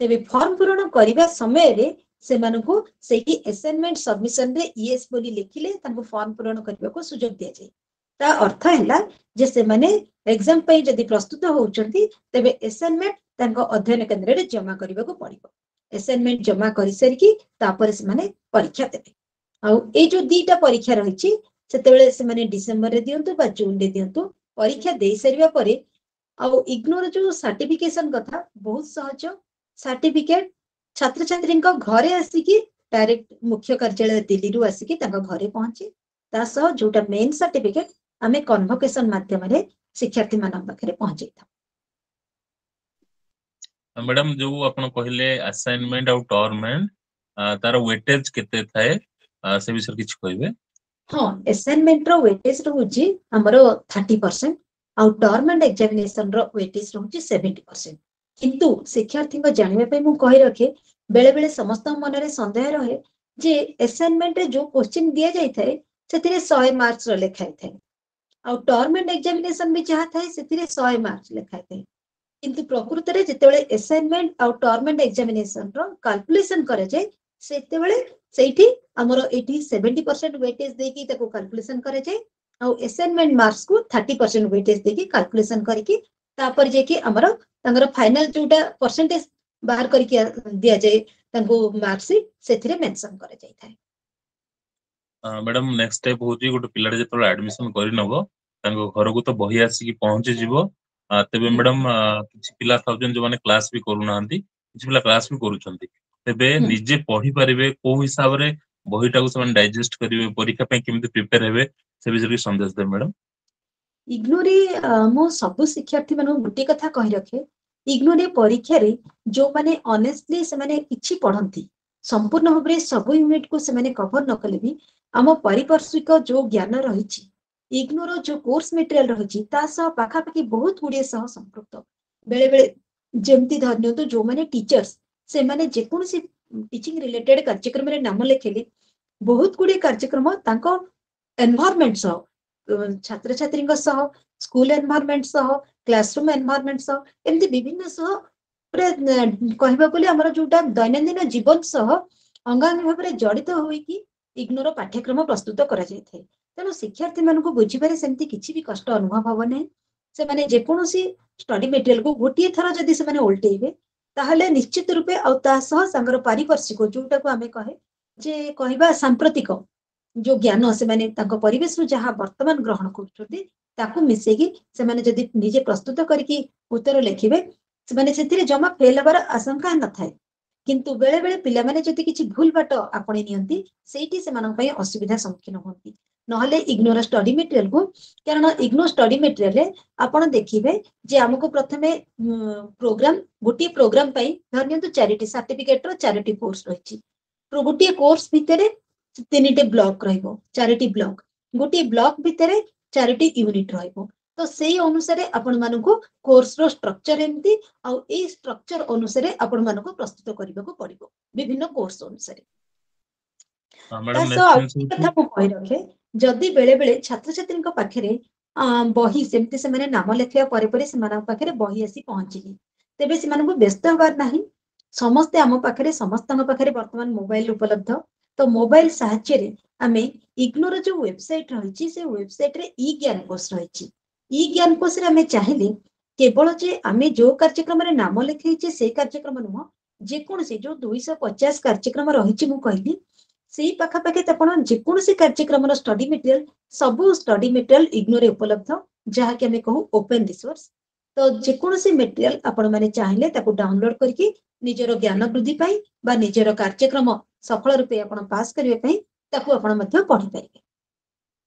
ତେବେ ଫର୍ମ ପୂରଣ କରିବା ସମୟରେ ସେମାନଙ୍କୁ ସେଇଠି ଆସାଇନମେଣ୍ଟ ସବମିଶନରେ ୟେସ୍ ବୋଲି ଲେଖିଲେ ତାଙ୍କୁ ଫର୍ମ ପୂରଣ କରିବାକୁ ସୁଯୋଗ ଦିଆଯାଏ। ତା ଅର୍ଥ ହେଲା ଯେ ସେମାନେ ଏକ୍ସାମ ପାଇଁ ଯଦି ପ୍ରସ୍ତୁତ ହଉଛନ୍ତି, ତେବେ ଆସାଇନମେଣ୍ଟ ତାଙ୍କ ଅଧ୍ୟୟନ କେନ୍ଦ୍ରରେ ଜମା କରିବାକୁ ପଡିବ। ଆସାଇନମେଣ୍ଟ ଜମା କରିସାରିକି ତାପରେ ସେମାନେ ପରୀକ୍ଷା ଦେବେ। ଆଉ ଏଇ ଯୋଉ ଦିଟା ପରୀକ୍ଷା ରହିଛି, ସେତେବେଳେ ସେମାନେ ଡିସେମ୍ବରରେ ଦିଅନ୍ତୁ ବା ଜୁନରେ ଦିଅନ୍ତୁ, ପରୀକ୍ଷା ଦେଇ ସାରିବା ପରେ ଆଉ ଇଗ୍ନୋର ଯୋଉ ସାର୍ଟିଫିକେସନ କଥା, ବହୁତ ସହଜ। ସାର୍ଟିଫିକେଟ ଛାତ୍ରଛାତ୍ରୀଙ୍କ ଘରେ ଆସିକି ଡାଇରେକ୍ଟ ମୁଖ୍ୟ କାର୍ଯ୍ୟାଳୟ ଦିଲ୍ଲୀରୁ ଆସିକି ତାଙ୍କ ଘରେ ପହଞ୍ଚେ। ତା ସହ ଯୋଉଟା ମେନ୍ ସାର୍ଟିଫିକେଟ, ଆମେ କନଭୋକେସନ ମାଧ୍ୟମରେ ଶିକ୍ଷାର୍ଥୀ ମାନଙ୍କ ପାଖରେ ପହଞ୍ଚେଇଥାଉ। ମ୍ୟାଡାମ, ଯୋଉ ଆପଣ କହିଲେ ଆସାଇନମେଣ୍ଟ ଆଉ ଟର୍ମ ଏଣ୍ଡ, ତାର ୱେଟେଜ କେତେ ଥାଏ, ସେ ବିଷୟରେ କିଛି କହିବେ? ହଁ, ଆସାଇନମେଣ୍ଟ ର ୱେଟେଜ ରହୁଛି ଆମର 30% ଆଉ ଟର୍ମ ଆଣ୍ଡ ଏକ୍ସାମିନେସନ ର ୱେଟେଜ ରହୁଛି 70%। କିନ୍ତୁ ଶିକ୍ଷାର୍ଥୀଙ୍କ ଜାଣିବା ପାଇଁ ମୁଁ କହି ରଖେ, ବେଳେ ବେଳେ ସମସ୍ତଙ୍କ ମନରେ ସନ୍ଦେହ ରହେ ଯେ ଆସାଇନମେଣ୍ଟରେ ଯୋଉ କୋଶ୍ଚିନ୍ ଦିଆଯାଇଥାଏ ସେଥିରେ 100 ମାର୍କସ ର ଲେଖା ହେଇଥାଏ ଆଉ ଟର୍ମ ଆଣ୍ଡ ଏକ୍ସାମିନେସନ ବି ଯାହା ଥାଏ ସେଥିରେ 100 ମାର୍କସ ଲେଖା ହେଇଥାଏ। କିନ୍ତୁ ପ୍ରକୃତରେ ଯେତେବେଳେ ଆସାଇନମେଣ୍ଟ ଆଉ ଟର୍ମ ଆଣ୍ଡ ଏକ୍ସାମିନେସନ ର କାଲକୁଲେସନ କରାଯାଏ, ସେତେବେଳେ ସେଇଠି ଆମର ଏଇଠି 70% ୱେଟେଜ ଦେଇକି ତାକୁ କାଲକୁଲେସନ କରାଯାଏ ଆଉ ଆସାଇନମେଣ୍ଟ ମାର୍କସକୁ 30% ୱେଟେଜ ଦେଇକି କାଲକୁଲେସନ କରିକି ତାପରେ ଯାଇକି ଆମର ତାଙ୍କର ଫାଇନାଲ ଯୋଉଟା ପରସେଣ୍ଟେଜ ବାହାର କରିକି ଦିଆଯାଏ ତାଙ୍କୁ ମାର୍କସ, ସେଥିରେ ମେନସନ କରାଯାଇଥାଏ। ମ୍ୟାଡାମ, ନେକ୍ସଟ ଷ୍ଟେପ ହଉଛି ଗୋଟେ ପିଲାଟେ ଯେତେବେଳେ ଆଡମିସନ କରିନବ, ତାଙ୍କ ଘରକୁ ତ ବହି ଆସିକି ପହଞ୍ଚିଯିବ। ତେବେ ମ୍ୟାଡାମ, କିଛି ପିଲା ଥାଉଛନ୍ତି ଯୋଉମାନେ କ୍ଲାସ ବି କରୁନାହାନ୍ତି, କିଛି ପିଲା କ୍ଲାସ ବି କରୁଛନ୍ତି। ତେବେ ନିଜେ ପଢି ପାରିବେ, କୋଉ ହିସାବରେ ବହିଟାକୁ ସେମାନେ ଡାଇଜେଷ୍ଟ କରିବେ, ପରୀକ୍ଷା ପାଇଁ କେମିତି ପ୍ରିପେୟାର ହେବେ, ସେ ବିଷୟରେ କିଛି ସନ୍ଦେଶ ଦେବେ ମ୍ୟାଡାମ। ଇଗ୍ନୋରେ ମୁଁ ସବୁ ଶିକ୍ଷାର୍ଥୀ ମାନଙ୍କୁ ଗୋଟିଏ କଥା କହି ରଖେ, ଇଗ୍ନୋରେ ପରୀକ୍ଷାରେ ଯୋଉମାନେ ଅନେଷ୍ଟଲି ସେମାନେ କିଛି ପଢନ୍ତି, ସମ୍ପୂର୍ଣ୍ଣ ଭାବରେ ସବୁ ୟୁନିଟକୁ ସେମାନେ କଭର ନ କଲେ ବି ଆମ ପାରିପାର୍ଶ୍ୱିକ ଯୋଉ ଜ୍ଞାନ ରହିଛି, ଇଗ୍ନୋର ଯୋଉ କୋର୍ସ ମେଟେରିଆଲ ରହିଛି, ତା ସହ ପାଖାପାଖି ବହୁତ ଗୁଡିଏ ସହ ସମ୍ପୃକ୍ତ। ବେଳେ ବେଳେ ଯେମିତି ଧରି ନିଅନ୍ତୁ, ଯୋଉମାନେ ଟିଚର୍ସ, ସେମାନେ ଯେକୌଣସି ଟିଚିଂ ରିଲେଟେଡ କାର୍ଯ୍ୟକ୍ରମରେ ନାମ ଲେଖିଲେ ବହୁତ ଗୁଡିଏ କାର୍ଯ୍ୟକ୍ରମ ତାଙ୍କ ଏନଭାରମେଣ୍ଟ ସହ, ଛାତ୍ରଛାତ୍ରୀଙ୍କ ସହ, ସ୍କୁଲ ଏନଭାରମେଣ୍ଟ ସହ, କ୍ଲାସରୁମ ଏନଭାରମେଣ୍ଟ ସହ, ଏମିତି ବିଭିନ୍ନ ସହ ପୁରା କହିବାକୁ ଗଲେ ଆମର ଯୋଉଟା ଦୈନନ୍ଦିନ ଜୀବନ ସହ ଅଙ୍ଗାଙ୍ଗୀ ଭାବରେ ଜଡିତ ହୋଇକି ଇଗ୍ନୋର ପାଠ୍ୟକ୍ରମ ପ୍ରସ୍ତୁତ କରାଯାଇଥାଏ। ତେଣୁ ଶିକ୍ଷାର୍ଥୀ ମାନଙ୍କୁ ବୁଝିବାରେ ସେମିତି କିଛି ବି କଷ୍ଟ ଅନୁଭବ ହବ ନାହିଁ। ସେମାନେ ଯେକୌଣସି ଷ୍ଟଡି ମେଟେରିଆଲକୁ ଗୋଟିଏ ଥର ଯଦି ସେମାନେ ଓଲଟେଇବେ, ତାହେଲେ ନିଶ୍ଚିତ ରୂପେ ଆଉ ତା ସହ ତାଙ୍କର ପାରିପାର୍ଶ୍ୱିକ, ଯୋଉଟାକୁ ଆମେ କହେ ଯେ କହିବା ସାମ୍ପ୍ରତିକ ଯୋଉ ଜ୍ଞାନ, ସେମାନେ ତାଙ୍କ ପରିବେଶରୁ ଯାହା ବର୍ତ୍ତମାନ ଗ୍ରହଣ କରୁଛନ୍ତି, ତାକୁ ମିଶେଇକି ସେମାନେ ଯଦି ନିଜେ ପ୍ରସ୍ତୁତ କରିକି ଉତ୍ତର ଲେଖିବେ, ସେମାନେ ସେଥିରେ ଜମା ଫେଲ ହେବାର ଆଶଙ୍କା ନଥାଏ। କିନ୍ତୁ ବେଳେ ବେଳେ ପିଲାମାନେ ଯଦି କିଛି ଭୁଲ ବାଟ ଆପଣେଇ ନିଅନ୍ତି, ସେଇଠି ସେମାନଙ୍କ ପାଇଁ ଅସୁବିଧା ସମ୍ମୁଖୀନ ହୁଅନ୍ତି। ନହେଲେ ଇଗ୍ନୋର ଷ୍ଟଡି ମେଟେରିଆଲକୁ, କାରଣ ଇଗ୍ନୋ ଷ୍ଟଡି ମେଟେରିଆଲରେ ଆପଣ ଦେଖିବେ ଯେ ଆମକୁ ପ୍ରଥମେ ପ୍ରୋଗ୍ରାମ, ଗୋଟିଏ ପ୍ରୋଗ୍ରାମ ପାଇଁ ଧରି ନିଅନ୍ତୁ ଚାରିଟି ସାର୍ଟିଫିକେଟର ଚାରିଟି କୋର୍ସ ରହିଛି। ଗୋଟିଏ କୋର୍ସ ଭିତରେ ତିନିଟି ବ୍ଲକ ରହିବ, ଚାରିଟି ବ୍ଲକ, ଗୋଟିଏ ବ୍ଲକ ଭିତରେ ଚାରିଟି ୟୁନିଟ ରହିବ। ତ ସେଇ ଅନୁସାରେ ଆପଣ ମାନଙ୍କୁ କୋର୍ସର ଷ୍ଟ୍ରକ୍ଚର ଏମିତି ଆଉ ଏଇ ଷ୍ଟ୍ରକ୍ଚର ଅନୁସାରେ ଆପଣ ମାନଙ୍କୁ ପ୍ରସ୍ତୁତ କରିବାକୁ ପଡିବ ବିଭିନ୍ନ କୋର୍ସ ଅନୁସାରେ। ତା ମ୍ୟାଡାମ, ସହ ଆଉ ନେକ୍ସଟ ଜିନିଷ କଥା ହଉଛି ମୁଁ କହି ରଖେ, ଯଦି ବେଳେ ବେଳେ ଛାତ୍ରଛାତ୍ରୀଙ୍କ ପାଖରେ ବହି ସେମିତି ସେମାନେ ନାମ ଲେଖିବା ପରେ ପରେ ସେମାନଙ୍କ ପାଖରେ ବହି ଆସି ପହଞ୍ଚିନି, ତେବେ ସେମାନଙ୍କୁ ବ୍ୟସ୍ତ ହବାର ନାହିଁ। ସମସ୍ତେ ଆମ ପାଖରେ, ସମସ୍ତଙ୍କ ପାଖରେ ବର୍ତ୍ତମାନ ମୋବାଇଲ ଉପଲବ୍ଧ। ତ ମୋବାଇଲ ସାହାଯ୍ୟରେ ଆମେ ଇଗ୍ନୋର ଯୋଉ ୱେବସାଇଟ ରହିଛି, ସେ ୱେବସାଇଟରେ ଇ ଜ୍ଞାନକୋଷ ରହିଛି। ଇ ଜ୍ଞାନକୋଷରେ ଆମେ ଚାହିଁଲେ କେବଳ ଯେ ଆମେ ଯୋଉ କାର୍ଯ୍ୟକ୍ରମରେ ନାମ ଲେଖେଇଛେ ସେଇ କାର୍ଯ୍ୟକ୍ରମ ନୁହଁ, ଯେକୌଣସି ଯୋଉ 250 କାର୍ଯ୍ୟକ୍ରମ ରହିଛି ମୁଁ କହିଲି, ସେଇ ପାଖାପାଖି ଆପଣ ଯେକୌଣସି କାର୍ଯ୍ୟକ୍ରମର ଷ୍ଟଡି ମେଟେରିଆଲ, ସବୁ ଷ୍ଟଡି ମେଟେରିଆଲ ଇଗ୍ନୋରେ ଉପଲବ୍ଧ, ଯାହାକି ଆମେ କହୁ ଓପେନ ରିସୋର୍ସ। ତ ଯେକୌଣସି ମେଟେରିଆଲ ଆପଣ ମାନେ ଚାହିଁଲେ ତାକୁ ଡାଉନଲୋଡ କରିକି ନିଜର ଜ୍ଞାନ ବୃଦ୍ଧି ପାଇଁ ବା ନିଜର କାର୍ଯ୍ୟକ୍ରମ ସଫଳ ରୂପେ ଆପଣ ପାସ୍ କରିବା ପାଇଁ ତାକୁ ଆପଣ ମଧ୍ୟ ପଢିପାରିବେ।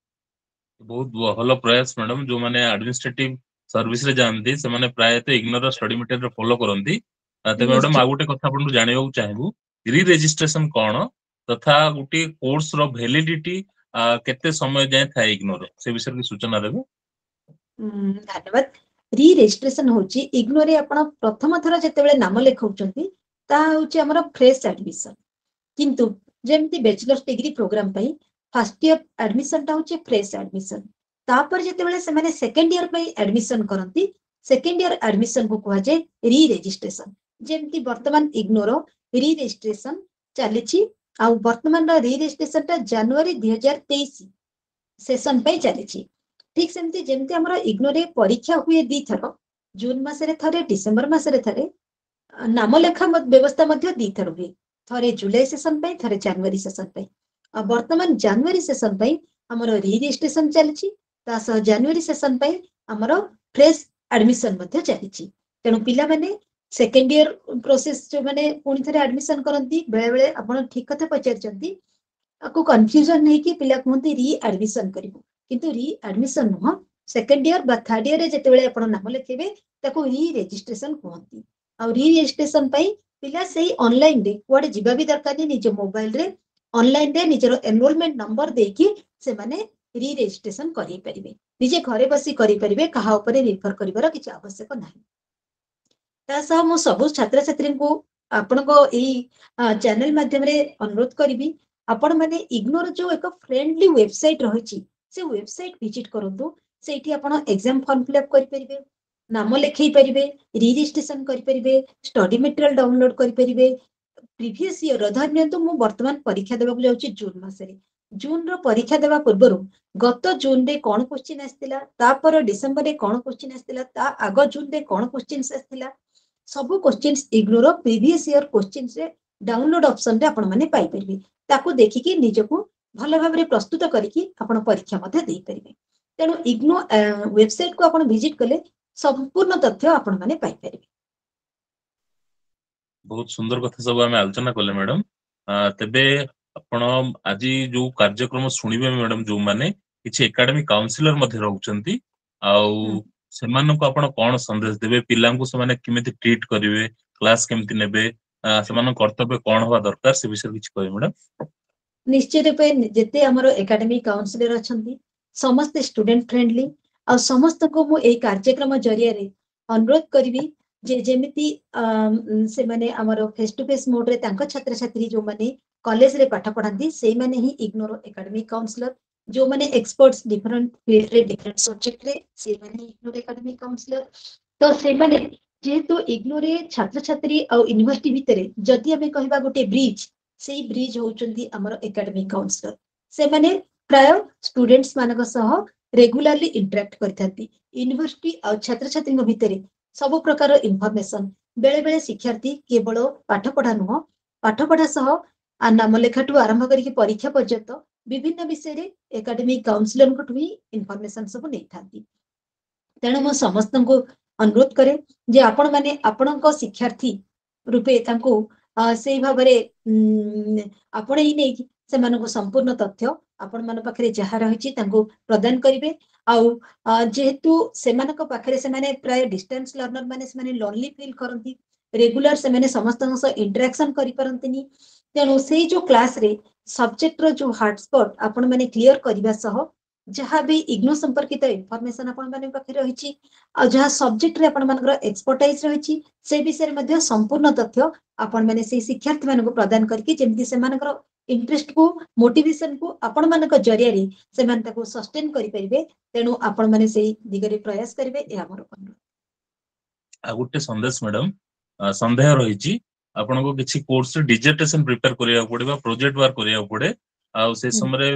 ବହୁତ ଭଲ ପ୍ରୟାସ ମ୍ୟାଡାମ। ଯୋଉମାନେ ଆଡମିନିଷ୍ଟ୍ରେଟିଭ ସର୍ଭିସ ରେ ଯାଆନ୍ତି, ସେମାନେ ପ୍ରାୟତଃ ଇଗ୍ନୋର ଷ୍ଟଡି ମେଟେରିଆଲ ଫଲୋ କରନ୍ତି। ତେବେ ମ୍ୟାଡାମ, ଆଉ ଗୋଟେ କଥା ଆପଣଙ୍କୁ ଜାଣିବାକୁ ଚାହିଁବୁ, ରି ରେଜିଷ୍ଟ୍ରେସନ କଣ ତଥା ଗୋଟିଏ କୋର୍ସ ର ଭ୍ୟାଲିଡିଟି କେତେ ସମୟ ଯାଏଁ ଥାଏ ଇଗ୍ନୋର, ସେ ବିଷୟରେ କିଛି ସୂଚନା ଦେବେ? ଧନ୍ୟବାଦ। ରି ରେଜିଷ୍ଟ୍ରେସନ ହଉଛି, ଇଗ୍ନୋରେ ଆପଣ ପ୍ରଥମ ଥର ଯେତେବେଳେ ନାମ ଲେଖାଉଛନ୍ତି, ତାହା ହଉଛି ଆମର ଫ୍ରେଶ ଆଡମିସନ। କିନ୍ତୁ ଯେମିତି ବ୍ୟାଚଲର୍ସ ଡିଗ୍ରୀ ପ୍ରୋଗ୍ରାମ ପାଇଁ ଫାର୍ଷ୍ଟ ଇୟର ଆଡମିସନଟା ହଉଛି ଫ୍ରେଶ ଆଡମିସନ, ତାପରେ ଯେତେବେଳେ ସେମାନେ ସେକେଣ୍ଡ ଇୟର ପାଇଁ ଆଡମିସନ କରନ୍ତି, ସେକେଣ୍ଡ ଇୟର ଆଡମିସନକୁ କୁହାଯାଏ ରି ରେଜିଷ୍ଟ୍ରେସନ। ଯେମିତି ବର୍ତ୍ତମାନ ଇଗ୍ନୋର ରି ରେଜିଷ୍ଟ୍ରେସନ ଚାଲିଛି, ଆଉ ବର୍ତ୍ତମାନର ରି ରେଜିଷ୍ଟ୍ରେସନଟା ଜାନୁଆରୀ 2023 ସେସନ ପାଇଁ ଚାଲିଛି। ଠିକ ସେମିତି ଯେମିତି ଆମର ଇଗ୍ନୋରେ ପରୀକ୍ଷା ହୁଏ 2 ଥର, ଜୁନ ମାସରେ ଥରେ, ଡିସେମ୍ବର ମାସରେ ଥରେ, ନାମ ଲେଖା ବ୍ୟବସ୍ଥା ମଧ୍ୟ 2 ଥର ହୁଏ, ଥରେ ଜୁଲାଇ ସେସନ ପାଇଁ, ଥରେ ଜାନୁଆରୀ ସେସନ ପାଇଁ। ଆଉ ବର୍ତ୍ତମାନ ଜାନୁଆରୀ ସେସନ ପାଇଁ ଆମର ରି ରେଜିଷ୍ଟ୍ରେସନ ଚାଲିଛି, ତା ସହ ଜାନୁଆରୀ ସେସନ ପାଇଁ ଆମର ଫ୍ରେଶ ଆଡମିସନ ମଧ୍ୟ ଚାଲିଛି। ତେଣୁ ପିଲାମାନେ ସେକେଣ୍ଡ ଇୟର ପ୍ରୋସେସ ଯୋଉମାନେ ପୁଣି ଥରେ ଆଡମିସନ କରନ୍ତି, ବେଳେ ବେଳେ, ଆପଣ ଠିକ କଥା ପଚାରିଛନ୍ତି, ଆକୁ କନଫ୍ୟୁଜନ ହେଇକି ପିଲା କୁହନ୍ତି ରି ଆଡମିସନ କରିବୁ। କିନ୍ତୁ ରି ଆଡମିସନ ନୁହଁ, ସେକେଣ୍ଡ ଇୟର ବା ଥାର୍ଡ ଇୟରରେ ଯେତେବେଳେ ଆପଣ ନାମ ଲେଖେଇବେ, ତାକୁ ରି ରେଜିଷ୍ଟ୍ରେସନ କୁହନ୍ତି। ଆଉ ରି ରେଜିଷ୍ଟ୍ରେସନ ପାଇଁ ପିଲା ସେଇ ଅନଲାଇନରେ, କୁଆଡେ ଯିବା ବି ଦରକାର ନାହିଁ, ନିଜ ମୋବାଇଲରେ ଅନଲାଇନରେ ନିଜର ଏନରୋଲମେଣ୍ଟ ନମ୍ବର ଦେଇକି ସେମାନେ ରି ରେଜିଷ୍ଟ୍ରେସନ କରେଇ ପାରିବେ। ନିଜେ ଘରେ ବସି କରିପାରିବେ, କାହା ଉପରେ ନିର୍ଭର କରିବାର କିଛି ଆବଶ୍ୟକ ନାହିଁ। ତା ସହ ମୁଁ ସବୁ ଛାତ୍ରଛାତ୍ରୀଙ୍କୁ ଆପଣଙ୍କ ଏଇ ଚ୍ୟାନେଲ ମାଧ୍ୟମରେ ଅନୁରୋଧ କରିବି, ଆପଣମାନେ ଇଗ୍ନୋର ଯୋଉ ଏକ ଫ୍ରେଣ୍ଡଲି ୱେବସାଇଟ ରହିଛି, ସେ ୱେବସାଇଟ ଭିଜିଟ କରନ୍ତୁ। ସେଇଠି ଆପଣ ଏକ୍ସାମ ଫର୍ମ ଫିଲ୍ଅପ୍ କରିପାରିବେ, ନାମ ଲେଖେଇ ପାରିବେ, ରିଜିଷ୍ଟ୍ରେସନ କରିପାରିବେ, ଷ୍ଟଡି ମେଟେରିଆଲ ଡାଉନଲୋଡ କରିପାରିବେ। ପ୍ରିଭିୟସ ଇୟର, ଧରି ନିଅନ୍ତୁ ମୁଁ ବର୍ତ୍ତମାନ ପରୀକ୍ଷା ଦେବାକୁ ଯାଉଛି ଜୁନ ମାସରେ, ଜୁନର ପରୀକ୍ଷା ଦେବା ପୂର୍ବରୁ ଗତ ଜୁନରେ କଣ କୋଶ୍ଚିନ୍ ଆସିଥିଲା, ତାପର ଡିସେମ୍ବରରେ କଣ କୋଶ୍ଚିନ୍ ଆସିଥିଲା, ତା ଆଗ ଜୁନରେ କଣ କୋଶ୍ଚିନ୍ସ ଆସିଥିଲା, ସବୁ କୋଶ୍ଚିନ୍ସ ଇଗ୍ନୋର ପ୍ରିଭିୟସ ଇୟର କୋଶ୍ଚିନ୍ସରେ ଡାଉନଲୋଡ ଅପସନରେ ଆପଣମାନେ ପାଇପାରିବେ। ତାକୁ ଦେଖିକି ନିଜକୁ ଭଲ ଭାବରେ ପ୍ରସ୍ତୁତ କରିକି ଆପଣ ପରୀକ୍ଷା ମଧ୍ୟ ଦେଇପାରିବେ। ତେଣୁ ଇଗ୍ନୋ ୱେବସାଇଟକୁ ଆପଣ ଭିଜିଟ କଲେ ସମ୍ପୂର୍ଣ୍ଣ ତଥ୍ୟ ଆପଣମାନେ ପାଇପାରିବେ। ବହୁତ ସୁନ୍ଦର କଥା ସବୁ ଆମେ ଆଲୋଚନା କଲେ ମ୍ୟାଡାମ। ତେବେ ଆପଣ ଆଜି ଯୋଉ କାର୍ଯ୍ୟକ୍ରମ ଶୁଣିବେ ମ୍ୟାଡାମ, ଯୋଉମାନେ କିଛି ଏକାଡେମିକ କାଉନସିଲର ମଧ୍ୟ ରହୁଛନ୍ତି, ଆଉ ସେମାନଙ୍କୁ ଆପଣ କଣ ସନ୍ଦେଶ ଦେବେ? ପିଲାଙ୍କୁ ସେମାନେ କେମିତି ଟ୍ରିଟ କରିବେ, କ୍ଲାସ କେମିତି ନେବେ, ସେମାନଙ୍କ କର୍ତ୍ତବ୍ୟ କଣ ହବା ଦରକାର, ସେ ବିଷୟରେ କିଛି କହିବେ ମ୍ୟାଡାମ? ନିଶ୍ଚିତ ରୂପେ, ଯେତେ ଆମର ଏକାଡେମିକ କାଉନସିଲର ଅଛନ୍ତି, ସମସ୍ତେ ଷ୍ଟୁଡେଣ୍ଟ ଫ୍ରେଣ୍ଡଲି। ଆଉ ସମସ୍ତଙ୍କୁ ମୁଁ ଏଇ କାର୍ଯ୍ୟକ୍ରମ ଜରିଆରେ ଅନୁରୋଧ କରିବି ଯେ ଯେମିତି ସେମାନେ ଆମର ଫେସ୍ ଟୁ ଫେସ୍ ମୋଡରେ ତାଙ୍କ ଛାତ୍ରଛାତ୍ରୀ ଯୋଉମାନେ କଲେଜରେ ପାଠ ପଢାନ୍ତି, ସେଇମାନେ ହିଁ ଇଗ୍ନୋର ଏକାଡେମିକ କାଉନସିଲର। ଯୋଉମାନେ ଏକ୍ସପର୍ଟସ ଡିଫରେଣ୍ଟ ଫିଲ୍ଡରେ, ଡିଫରେଣ୍ଟ ସବଜେକ୍ଟରେ, ସେଇମାନେ ଇଗ୍ନୋର ଏକାଡେମିକ କାଉନସିଲର। ତ ସେମାନେ ଯେହେତୁ ଇଗ୍ନୋରେ ଛାତ୍ରଛାତ୍ରୀ ଆଉ ୟୁନିଭର୍ସିଟି ଭିତରେ ଯଦି ଆମେ କହିବା ଗୋଟେ ବ୍ରିଜ, ସେଇ ବ୍ରିଜ ହଉଛନ୍ତି ଆମର ଏକାଡେମିକ କାଉନସିଲର। ସେମାନେ ପ୍ରାୟ ଷ୍ଟୁଡେଣ୍ଟସ ମାନଙ୍କ ସହ ରେଗୁଲାରଲି ଇଣ୍ଟରାକ୍ଟ କରିଥାନ୍ତି। ୟୁନିଭର୍ସିଟି ଆଉ ଛାତ୍ରଛାତ୍ରୀଙ୍କ ଭିତରେ ସବୁ ପ୍ରକାର ଇନଫର୍ମେସନ, ବେଳେ ବେଳେ ଶିକ୍ଷାର୍ଥୀ କେବଳ ପାଠ ପଢା ନୁହଁ, ପାଠ ପଢା ସହ ନାମ ଲେଖାଠୁ ଆରମ୍ଭ କରିକି ପରୀକ୍ଷା ପର୍ଯ୍ୟନ୍ତ ବିଭିନ୍ନ ବିଷୟରେ ଏକାଡେମିକ କାଉନସିଲରଙ୍କଠୁ ହିଁ ଇନଫର୍ମେସନ ସବୁ ନେଇଥାନ୍ତି। ତେଣୁ ମୁଁ ସମସ୍ତଙ୍କୁ ଅନୁରୋଧ କରେ ଯେ ଆପଣମାନେ ଆପଣଙ୍କ ଶିକ୍ଷାର୍ଥୀ ରୂପେ ତାଙ୍କୁ ସେଇ ଭାବରେ ଆପଣେଇ ନେଇକି ସେମାନଙ୍କୁ ସମ୍ପୂର୍ଣ୍ଣ ତଥ୍ୟ ଆପଣମାନଙ୍କ ପାଖରେ ଯାହା ରହିଛି ତାଙ୍କୁ ପ୍ରଦାନ କରିବେ। ଆଉ ଯେହେତୁ ସେମାନଙ୍କ ପାଖରେ ସେମାନେ ପ୍ରାୟ ଡିଷ୍ଟାନ୍ସ ଲର୍ଣ୍ଣର ମାନେ ସେମାନେ ଲୋନଲି ଫିଲ୍ କରନ୍ତି, ରେଗୁଲାର ସେମାନେ ସମସ୍ତଙ୍କ ସହ ଇଣ୍ଟରାକ୍ସନ କରିପାରନ୍ତିନି। ତେଣୁ ସେଇ ଯୋଉ କ୍ଲାସରେ ସବଜେକ୍ଟର ଯୋଉ ହାର୍ଡସ୍ପଟ ଆପଣ ମାନେ କ୍ଲିୟର କରିବା ସହ ଯାହା ବି ଇଗ୍ନୋ ସମ୍ପର୍କିତ ଇନଫର୍ମେସନ ଆପଣମାନଙ୍କ ପାଖରେ ରହିଛି ଆଉ ଯାହା ସବଜେକ୍ଟରେ ଆପଣମାନଙ୍କର ଏକ୍ସପର୍ଟାଇଜ ରହିଛି, ସେ ବିଷୟରେ ମଧ୍ୟ ସମ୍ପୂର୍ଣ୍ଣ ତଥ୍ୟ ଆପଣମାନେ ସେଇ ଶିକ୍ଷାର୍ଥୀ ମାନଙ୍କୁ ପ୍ରଦାନ କରିକି ଯେମିତି ସେମାନଙ୍କର ଇଣ୍ଟରେଷ୍ଟକୁ, ମୋଟିଭେସନକୁ ଆପଣମାନଙ୍କ ଜରିଆରେ ସେମାନେ ତାକୁ ସଷ୍ଟେନ କରିପାରିବେ, ତେଣୁ ଆପଣମାନେ ସେଇ ଦିଗରେ ପ୍ରୟାସ କରିବେ, ଏହା ମୋର ଅନୁରୋଧ। ଆଉ ଗୋଟେ ସନ୍ଦେଶ ମ୍ୟାଡାମ, ସନ୍ଦେହ ରହିଛି, ଆପଣଙ୍କୁ କିଛି କୋର୍ସରେ ଡିଜର୍ଟେସନ ପ୍ରିପେୟାର କରିବାକୁ ପଡେ ବା ପ୍ରୋଜେକ୍ଟ ୱାର୍କ କରିବାକୁ ପଡେ। ଆଉ ସେ ସମୟରେ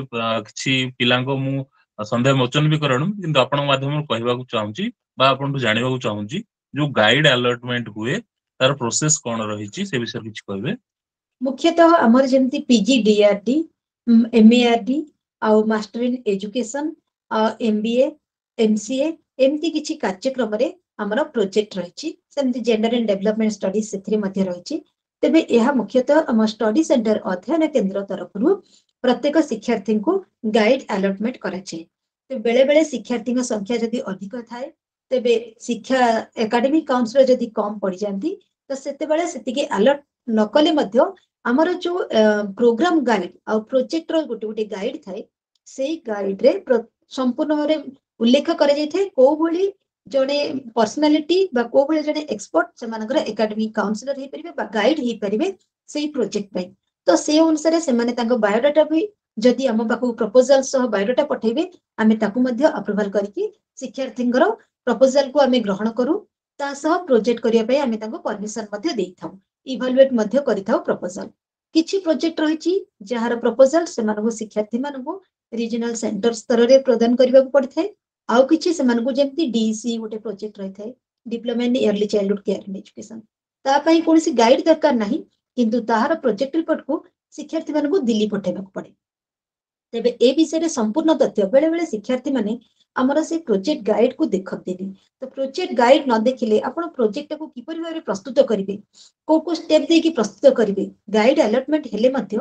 କିଛି ପିଲାଙ୍କ ମୁଁ ସନ୍ଦେହ ମୋଚନ ବି କରେଣୁ, କିନ୍ତୁ ଆପଣଙ୍କ ମାଧ୍ୟମରେ କହିବାକୁ ଚାହୁଁଛି ବା ଆପଣଙ୍କଠୁ ଜାଣିବାକୁ ଚାହୁଁଛି, ଯୋଉ ଗାଇଡ ଆଲଟମେଣ୍ଟ ହୁଏ ତାର ପ୍ରୋସେସ କଣ ରହିଛି, ସେ ବିଷୟରେ କିଛି କହିବେ? ମୁଖ୍ୟତଃ ଆମର ଯେମିତି ପିଜି ଡିଆରଡି, ଏମଏଆରଡି ଆଉ master in education, MBA, MCA, ଏମିତି କିଛି କାର୍ଯ୍ୟକ୍ରମରେ ଆମର ପ୍ରୋଜେକ୍ଟ ରହିଛି। ସେମିତି ଜେଣ୍ଡର ଆଣ୍ଡ ଡେଭଲପମେଣ୍ଟ ଷ୍ଟଡିଜ, ସେଥିରେ ମଧ୍ୟ ରହିଛି। ତେବେ ଏହା ମୁଖ୍ୟତଃ ଆମ ଷ୍ଟଡି ସେଣ୍ଟର, ଅଧ୍ୟୟନ କେନ୍ଦ୍ର ତରଫରୁ ପ୍ରତ୍ୟେକ ଶିକ୍ଷାର୍ଥୀଙ୍କୁ ଗାଇଡ ଆଲଟମେଣ୍ଟ କରାଯାଏ। ତ ବେଳେ ବେଳେ ଶିକ୍ଷାର୍ଥୀଙ୍କ ସଂଖ୍ୟା ଯଦି ଅଧିକ ଥାଏ, ତେବେ ଶିକ୍ଷା ଏକାଡେମିକ କାଉନସିଲର ଯଦି କମ ପଡିଯାନ୍ତି, ତ ସେତେବେଳେ ସେତିକି ଆଲର୍ଟ ନ କଲେ ମଧ୍ୟ ଆମର ଯୋଉ ପ୍ରୋଗ୍ରାମ ଗାଇଡ ଆଉ ପ୍ରୋଜେକ୍ଟର ଗୋଟେ ଗୋଟେ ଗାଇଡ ଥାଏ, ସେଇ ଗାଇଡରେ ସମ୍ପୂର୍ଣ୍ଣ ଭାବରେ ଉଲ୍ଲେଖ କରାଯାଇଥାଏ କୋଉ ଭଳି ଜଣେ ପର୍ସନାଲିଟି ବା କୋଉ ଭଳି ଜଣେ ଏକ୍ସପର୍ଟ ସେମାନଙ୍କର ଏକାଡେମିକ କାଉନସିଲର ହେଇପାରିବେ ବା ଗାଇଡ ହେଇପାରିବେ ସେଇ ପ୍ରୋଜେକ୍ଟ ପାଇଁ। ତ ସେ ଅନୁସାରେ ସେମାନେ ତାଙ୍କ ବାୟୋଡାଟା ବି ଯଦି ଆମ ପାଖକୁ ପ୍ରପୋଜାଲ ସହ ବାୟୋଡାଟା ପଠେଇବେ, ଆମେ ତାକୁ ମଧ୍ୟ ଆପ୍ରୁଭାଲ କରିକି ଶିକ୍ଷାର୍ଥୀଙ୍କର ପ୍ରପୋଜାଲକୁ ଆମେ ଗ୍ରହଣ କରୁ। ତା ସହ ପ୍ରୋଜେକ୍ଟ କରିବା ପାଇଁ ଆମେ ତାଙ୍କୁ ପରମିଶନ ମଧ୍ୟ ଦେଇଥାଉ, ଇଭାଲୁଏଟ ମଧ୍ୟ କରିଥାଉ ପ୍ରପୋଜାଲ। କିଛି ପ୍ରୋଜେକ୍ଟ ରହିଛି ଯାହାର ପ୍ରପୋଜାଲ ସେମାନଙ୍କୁ ଶିକ୍ଷାର୍ଥୀ ମାନଙ୍କୁ ରିଜନାଲ ସେଣ୍ଟର ସ୍ତରରେ ପ୍ରଦାନ କରିବାକୁ ପଡିଥାଏ। ଆଉ କିଛି ସେମାନଙ୍କୁ ଯେମିତି ଡିସି ଗୋଟେ ପ୍ରୋଜେକ୍ଟ ରହିଥାଏ, diploma in early childhood care and education, ତା ପାଇଁ କୌଣସି ଗାଇଡ ଦରକାର ନାହିଁ, କିନ୍ତୁ ତାହାର ପ୍ରୋଜେକ୍ଟ ରିପୋର୍ଟକୁ ଶିକ୍ଷାର୍ଥୀ ମାନଙ୍କୁ ଦିଲ୍ଲୀ ପଠେଇବାକୁ ପଡେ। ତେବେ ଏ ବିଷୟରେ ସମ୍ପୂର୍ଣ୍ଣ ତଥ୍ୟ ବେଳେ ବେଳେ ଶିକ୍ଷାର୍ଥୀ ମାନେ ଆମର ସେ ପ୍ରୋଜେକ୍ଟ ଗାଇଡ କୁ ଦେଖନ୍ତିନି। ତ ପ୍ରୋଜେକ୍ଟ ଗାଇଡ ନ ଦେଖିଲେ ଆପଣ ପ୍ରୋଜେକ୍ଟଟାକୁ କିପରି ଭାବରେ ପ୍ରସ୍ତୁତ କରିବେ, କୋଉ କୋଉ ଷ୍ଟେପ ଦେଇକି ପ୍ରସ୍ତୁତ କରିବେ। ଗାଇଡ ଆଲଟମେଣ୍ଟ ହେଲେ ମଧ୍ୟ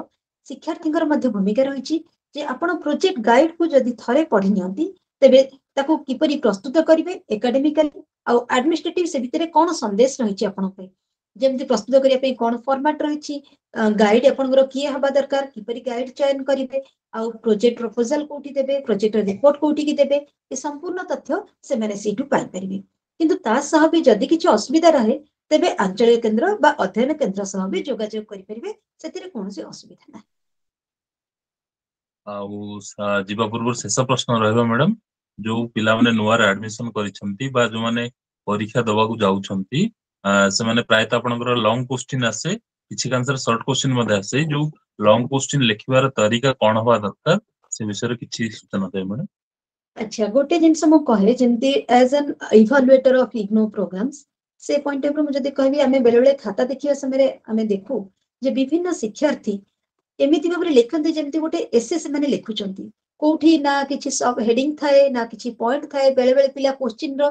ଶିକ୍ଷାର୍ଥୀଙ୍କର ମଧ୍ୟ ଭୂମିକା ରହିଛି ଯେ ଆପଣ ପ୍ରୋଜେକ୍ଟ ଗାଇଡ କୁ ଯଦି ଥରେ ପଢି ନିଅନ୍ତି, ତେବେ ତାକୁ କିପରି ପ୍ରସ୍ତୁତ କରିବେ ଏକାଡେମିକାଲି ଆଉ ଆଡମିନିଷ୍ଟ୍ରେଟିଭ ସେ ଭିତରେ କଣ ସନ୍ଦେଶ ରହିଛି ଆପଣଙ୍କ ପାଇଁ, ଯେମିତି ପ୍ରସ୍ତୁତ କରିବା ପାଇଁ କଣ ଫର୍ମାଟ ରହିଛି, ଗାଇଡ ଆପଣଙ୍କର କିଏ ହବା ଦରକାର, କିପରି ଗାଇଡ ଚୟନ କରିବେ, ଆଉ ପ୍ରୋଜେକ୍ଟ ପ୍ରପୋଜାଲ କୋଉଠି ଦେବେ, ପ୍ରୋଜେକ୍ଟ ରିପୋର୍ଟ କୋଉଠିକି ଦେବେ, ଏ ସମ୍ପୂର୍ଣ୍ଣ ତଥ୍ୟ ସେମାନେ ସେଇଠୁ ପାଇପାରିବେ। କିନ୍ତୁ ତା ସହ ବି ଯଦି କିଛି ଅସୁବିଧା ରହେ, ତେବେ ଆଞ୍ଚଳିକ କେନ୍ଦ୍ର ବା ଅଧ୍ୟୟନ କେନ୍ଦ୍ର ସହ ବି ଯୋଗାଯୋଗ କରିପାରିବେ, ସେଥିରେ କୌଣସି ଅସୁବିଧା ନାହିଁ। ଆଉ ଯିବା ପୂର୍ବରୁ ଶେଷ ପ୍ରଶ୍ନ ରହିବ ମ୍ୟାଡାମ, ଯୋଉ ପିଲାମାନେ ନୂଆରେ ଆଡମିସନ କରିଛନ୍ତି ବା ଯୋଉମାନେ ପରୀକ୍ଷା ଦବାକୁ ଯାଉଛନ୍ତି, ସେମାନେ ପ୍ରାୟତଃ ଆପଣଙ୍କର ଲଙ୍ଗ କୋଶ୍ଚିନ୍ ଆସେ, କିଛି କାଂଶରେ ସର୍ଟ କୋଶ୍ଚିନ୍ ମଧ୍ୟ ଆସେ। ଯୋଉ ଲଙ୍ଗ କୋଶ୍ଚିନ୍ ଲେଖିବାର ତରିକା କଣ ହବା ଦରକାର ସେ ବିଷୟରେ କିଛି ସୂଚନା ଦେବେ ମ୍ୟାଡାମ। ଆଚ୍ଛା, ଗୋଟେ ଜିନିଷ ମୁଁ କହେ, ଯେମିତି as an evaluator of IGNOU programs, ସେ ପଏଣ୍ଟ ଅଫ୍ ମୁଁ ଯଦି କହିବି, ଆମେ ବେଳେବେଳେ ଖାତା ଦେଖିବା ସମୟରେ ଆମେ ଦେଖୁ ଯେ ବିଭିନ୍ନ ଶିକ୍ଷାର୍ଥୀ ଏମିତି ଭାବରେ ଲେଖନ୍ତି ଯେମିତି ଗୋଟେ ଏସେ ସେମାନେ ଲେଖୁଛନ୍ତି। କୋଉଠି ନା କିଛି ସବ ହେଡିଂ ଥାଏ ନା କିଛି ପଏଣ୍ଟ ଥାଏ। ବେଳେ ବେଳେ ପିଲା କୋଶ୍ଚିନ୍ ର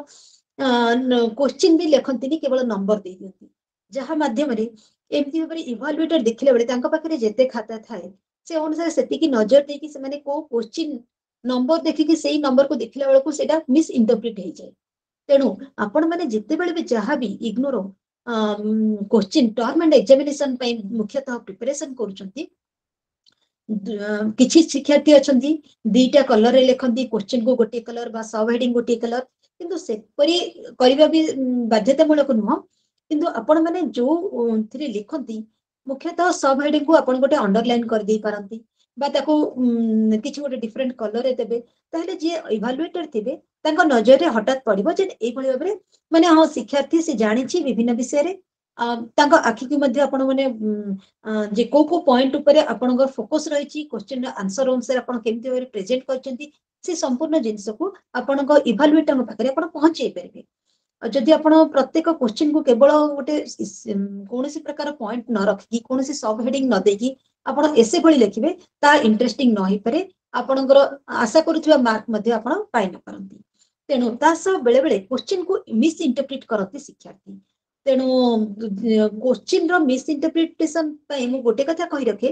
କୋଶ୍ଚିନ୍ ବି ଲେଖନ୍ତିନି, କେବଳ ନମ୍ବର ଦେଇ ଦିଅନ୍ତି, ଯାହା ମାଧ୍ୟମରେ ଏମିତି ଭାବରେ ଇଭାଲୁଏଟର ଦେଖିଲା ବେଳେ ତାଙ୍କ ପାଖରେ ଯେତେ ଖାତା ଥାଏ ସେ ଅନୁସାରେ ସେତିକି ନଜର ଦେଇକି ସେମାନେ କୋଉ କୋଶ୍ଚିନ୍ ନମ୍ବର ଦେଖିକି ସେଇ ନମ୍ବରକୁ ଦେଖିଲା ବେଳକୁ ସେଇଟା ମିସ୍ ଇଣ୍ଟରପ୍ରିଟ ହେଇଯାଏ। ତେଣୁ ଆପଣ ମାନେ ଯେତେବେଳେ ବି ଯାହା ବି ଇଗ୍ନୋର କୋଶ୍ଚିନ୍ ଟର୍ମ ଆଣ୍ଡ ଏକ୍ସାମିନେସନ ପାଇଁ ମୁଖ୍ୟତଃ ପ୍ରିପାରେସନ କରୁଛନ୍ତି, କିଛି ଶିକ୍ଷାର୍ଥୀ ଅଛନ୍ତି ଦିଟା କଲରରେ ଲେଖନ୍ତି, କୋଶ୍ଚିନ୍ କୁ ଗୋଟିଏ କଲର ବା ସବ ହେଡିଂ ଗୋଟିଏ କଲର, କିନ୍ତୁ ସେପରି କରିବା ବି ବାଧ୍ୟତାମୂଳକ ନୁହଁ। କିନ୍ତୁ ଆପଣ ମାନେ ଯୋଉଥିରେ ଲେଖନ୍ତି, ମୁଖ୍ୟତଃ ସବ ହେଡିଂ କୁ ଆପଣ ଗୋଟେ ଅଣ୍ଡରଲାଇନ କରିଦେଇ ପାରନ୍ତି ବା ତାକୁ କିଛି ଗୋଟେ ଡିଫରେଣ୍ଟ କଲରରେ ଦେବେ, ତାହେଲେ ଯିଏ ଇଭାଲୁଏଟର ଥିବେ ତାଙ୍କ ନଜରରେ ହଠାତ୍ ପଡିବ ଯେ ଏଇଭଳି ଭାବରେ ମାନେ ହଁ ଶିକ୍ଷାର୍ଥୀ ସେ ଜାଣିଛି ବିଭିନ୍ନ ବିଷୟରେ। ତାଙ୍କ ଆଖିକୁ ମଧ୍ୟ ଆପଣ ମାନେ ଯେ କୋଉ କୋଉ ପଏଣ୍ଟ ଉପରେ ଆପଣଙ୍କର ଫୋକସ ରହିଛି, କୋଶ୍ଚିନ୍ର ଆନ୍ସର ଅନୁସାରେ ଆପଣ କେମିତି ଭାବରେ ପ୍ରେଜେଣ୍ଟ କରିଛନ୍ତି, ସେ ସମ୍ପୂର୍ଣ୍ଣ ଜିନିଷକୁ ଆପଣଙ୍କ ଇଭାଲୁଏଟରଙ୍କ ପାଖରେ ଆପଣ ପହଞ୍ଚେଇ ପାରିବେ। ଆଉ ଯଦି ଆପଣ ପ୍ରତ୍ୟେକ କୋଶ୍ଚିନ୍କୁ କେବଳ ଗୋଟେ କୌଣସି ପ୍ରକାର ପଏଣ୍ଟ ନ ରଖିକି, କୌଣସି ସବ ହେଡିଂ ନ ଦେଇକି ଆପଣ ଏସେ ଭଳି ଲେଖିବେ, ତାହା ଇଣ୍ଟରେଷ୍ଟିଂ ନ ହେଇପାରେ, ଆପଣଙ୍କର ଆଶା କରୁଥିବା ମାର୍କ ମଧ୍ୟ ଆପଣ ପାଇ ନ ପାରନ୍ତି। ତେଣୁ ତା ସହ ବେଳେ ବେଳେ କୋଶ୍ଚିନ୍କୁ ମିସ୍ ଇଣ୍ଟରପ୍ରିଟ କରନ୍ତି ଶିକ୍ଷାର୍ଥୀ। ତେଣୁ କୋଶ୍ଚିନ୍ର ମିସ୍ ଇଣ୍ଟରପ୍ରିଟେସନ ପାଇଁ ମୁଁ ଗୋଟେ କଥା କହି ରଖେ,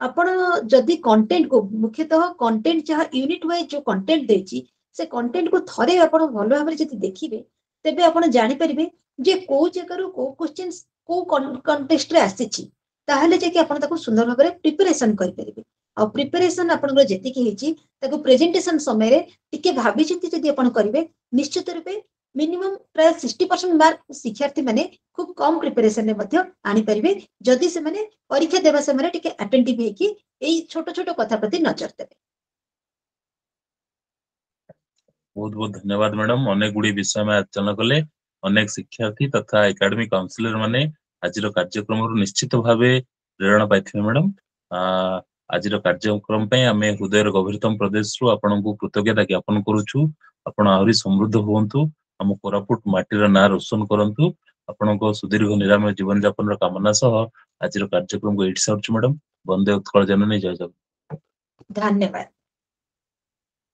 ଆପଣ ଯଦି କଣ୍ଟେଣ୍ଟକୁ ମୁଖ୍ୟତଃ କଣ୍ଟେଣ୍ଟ ଯାହା ୟୁନିଟ ୱାଇଜ ଯୋଉ କଣ୍ଟେଣ୍ଟ ଦେଇଛି ସେ କଣ୍ଟେଣ୍ଟକୁ ଥରେ ଆପଣ ଭଲ ଭାବରେ ଯଦି ଦେଖିବେ, ତେବେ ଆପଣ ଜାଣିପାରିବେ ଯେ କୋଉ ଜାଗାରୁ କୋଉ କୋଶ୍ଚିନ୍ କୋଉ କଣ୍ଟେକ୍ସଟରେ ଆସିଛି, ତାହେଲେ ଯାଇକି ଆପଣ ତାକୁ ସୁନ୍ଦର ଭାବରେ ପ୍ରିପାରେସନ କରିପାରିବେ। ଆଉ ପ୍ରିପାରେସନ ଆପଣଙ୍କର ଯେତିକି ହେଇଛି ତାକୁ ପ୍ରେଜେଣ୍ଟେସନ ସମୟରେ ଟିକେ ଭାବିଚିନ୍ତି ଯଦି ଆପଣ କରିବେ, ନିଶ୍ଚିତ ରୂପେ ମିନିମମ୍ ପ୍ରାୟ 60% ମାର୍କ ଶିକ୍ଷାର୍ଥୀ ମାନେ ଖୁବ କମ ପ୍ରିପାରେସନରେ ମଧ୍ୟ ଆଣିପାରିବେ, ଯଦି ସେମାନେ ପରୀକ୍ଷା ଦେବା ସମୟରେ ଟିକେ ଆଟେଣ୍ଟିଭ ହେଇକି ଏଇ ଛୋଟ ଛୋଟ କଥା ପ୍ରତି ନଜର ଦେବେ। ବହୁତ ବହୁତ ଧନ୍ୟବାଦ ମ୍ୟାଡାମ। ଅନେକ ଗୁଡିଏ ବିଷୟ ଆମେ ଆଲୋଚନା କଲେ। ଅନେକ ଶିକ୍ଷାର୍ଥୀ ତଥା ଏକାଡେମିକ କାଉନସିଲର ମାନେ ଆଜିର କାର୍ଯ୍ୟକ୍ରମରୁ ନିଶ୍ଚିତ ଭାବେ ପ୍ରେରଣା ପାଇଥିବେ ମ୍ୟାଡାମ। ଆଜିର କାର୍ଯ୍ୟକ୍ରମ ପାଇଁ ଆମେ ହୃଦୟର ଗଭୀରତମ ପ୍ରଦେଶରୁ ଆପଣଙ୍କୁ କୃତଜ୍ଞତା ଜ୍ଞାପନ କରୁଛୁ। ଆପଣ ଆହୁରି ସମୃଦ୍ଧ ହୁଅନ୍ତୁ, ଆମ କୋରାପୁଟ ମାଟିର ନାଁ ରୋଶନ କରନ୍ତୁ। ଆପଣଙ୍କ ସୁଦୀର୍ଘ ନିରାମୟ ଜୀବନ ଯାପନର କାମନା ସହ ଆଜିର କାର୍ଯ୍ୟକ୍ରମକୁ ଏଇଠି ସାରୁଛୁ ମ୍ୟାଡାମ। ବନ୍ଦେ ଉତ୍କଳ ଜନନୀ, ଜୟ ଜଗନ୍ନାଥ। ଧନ୍ୟବାଦ।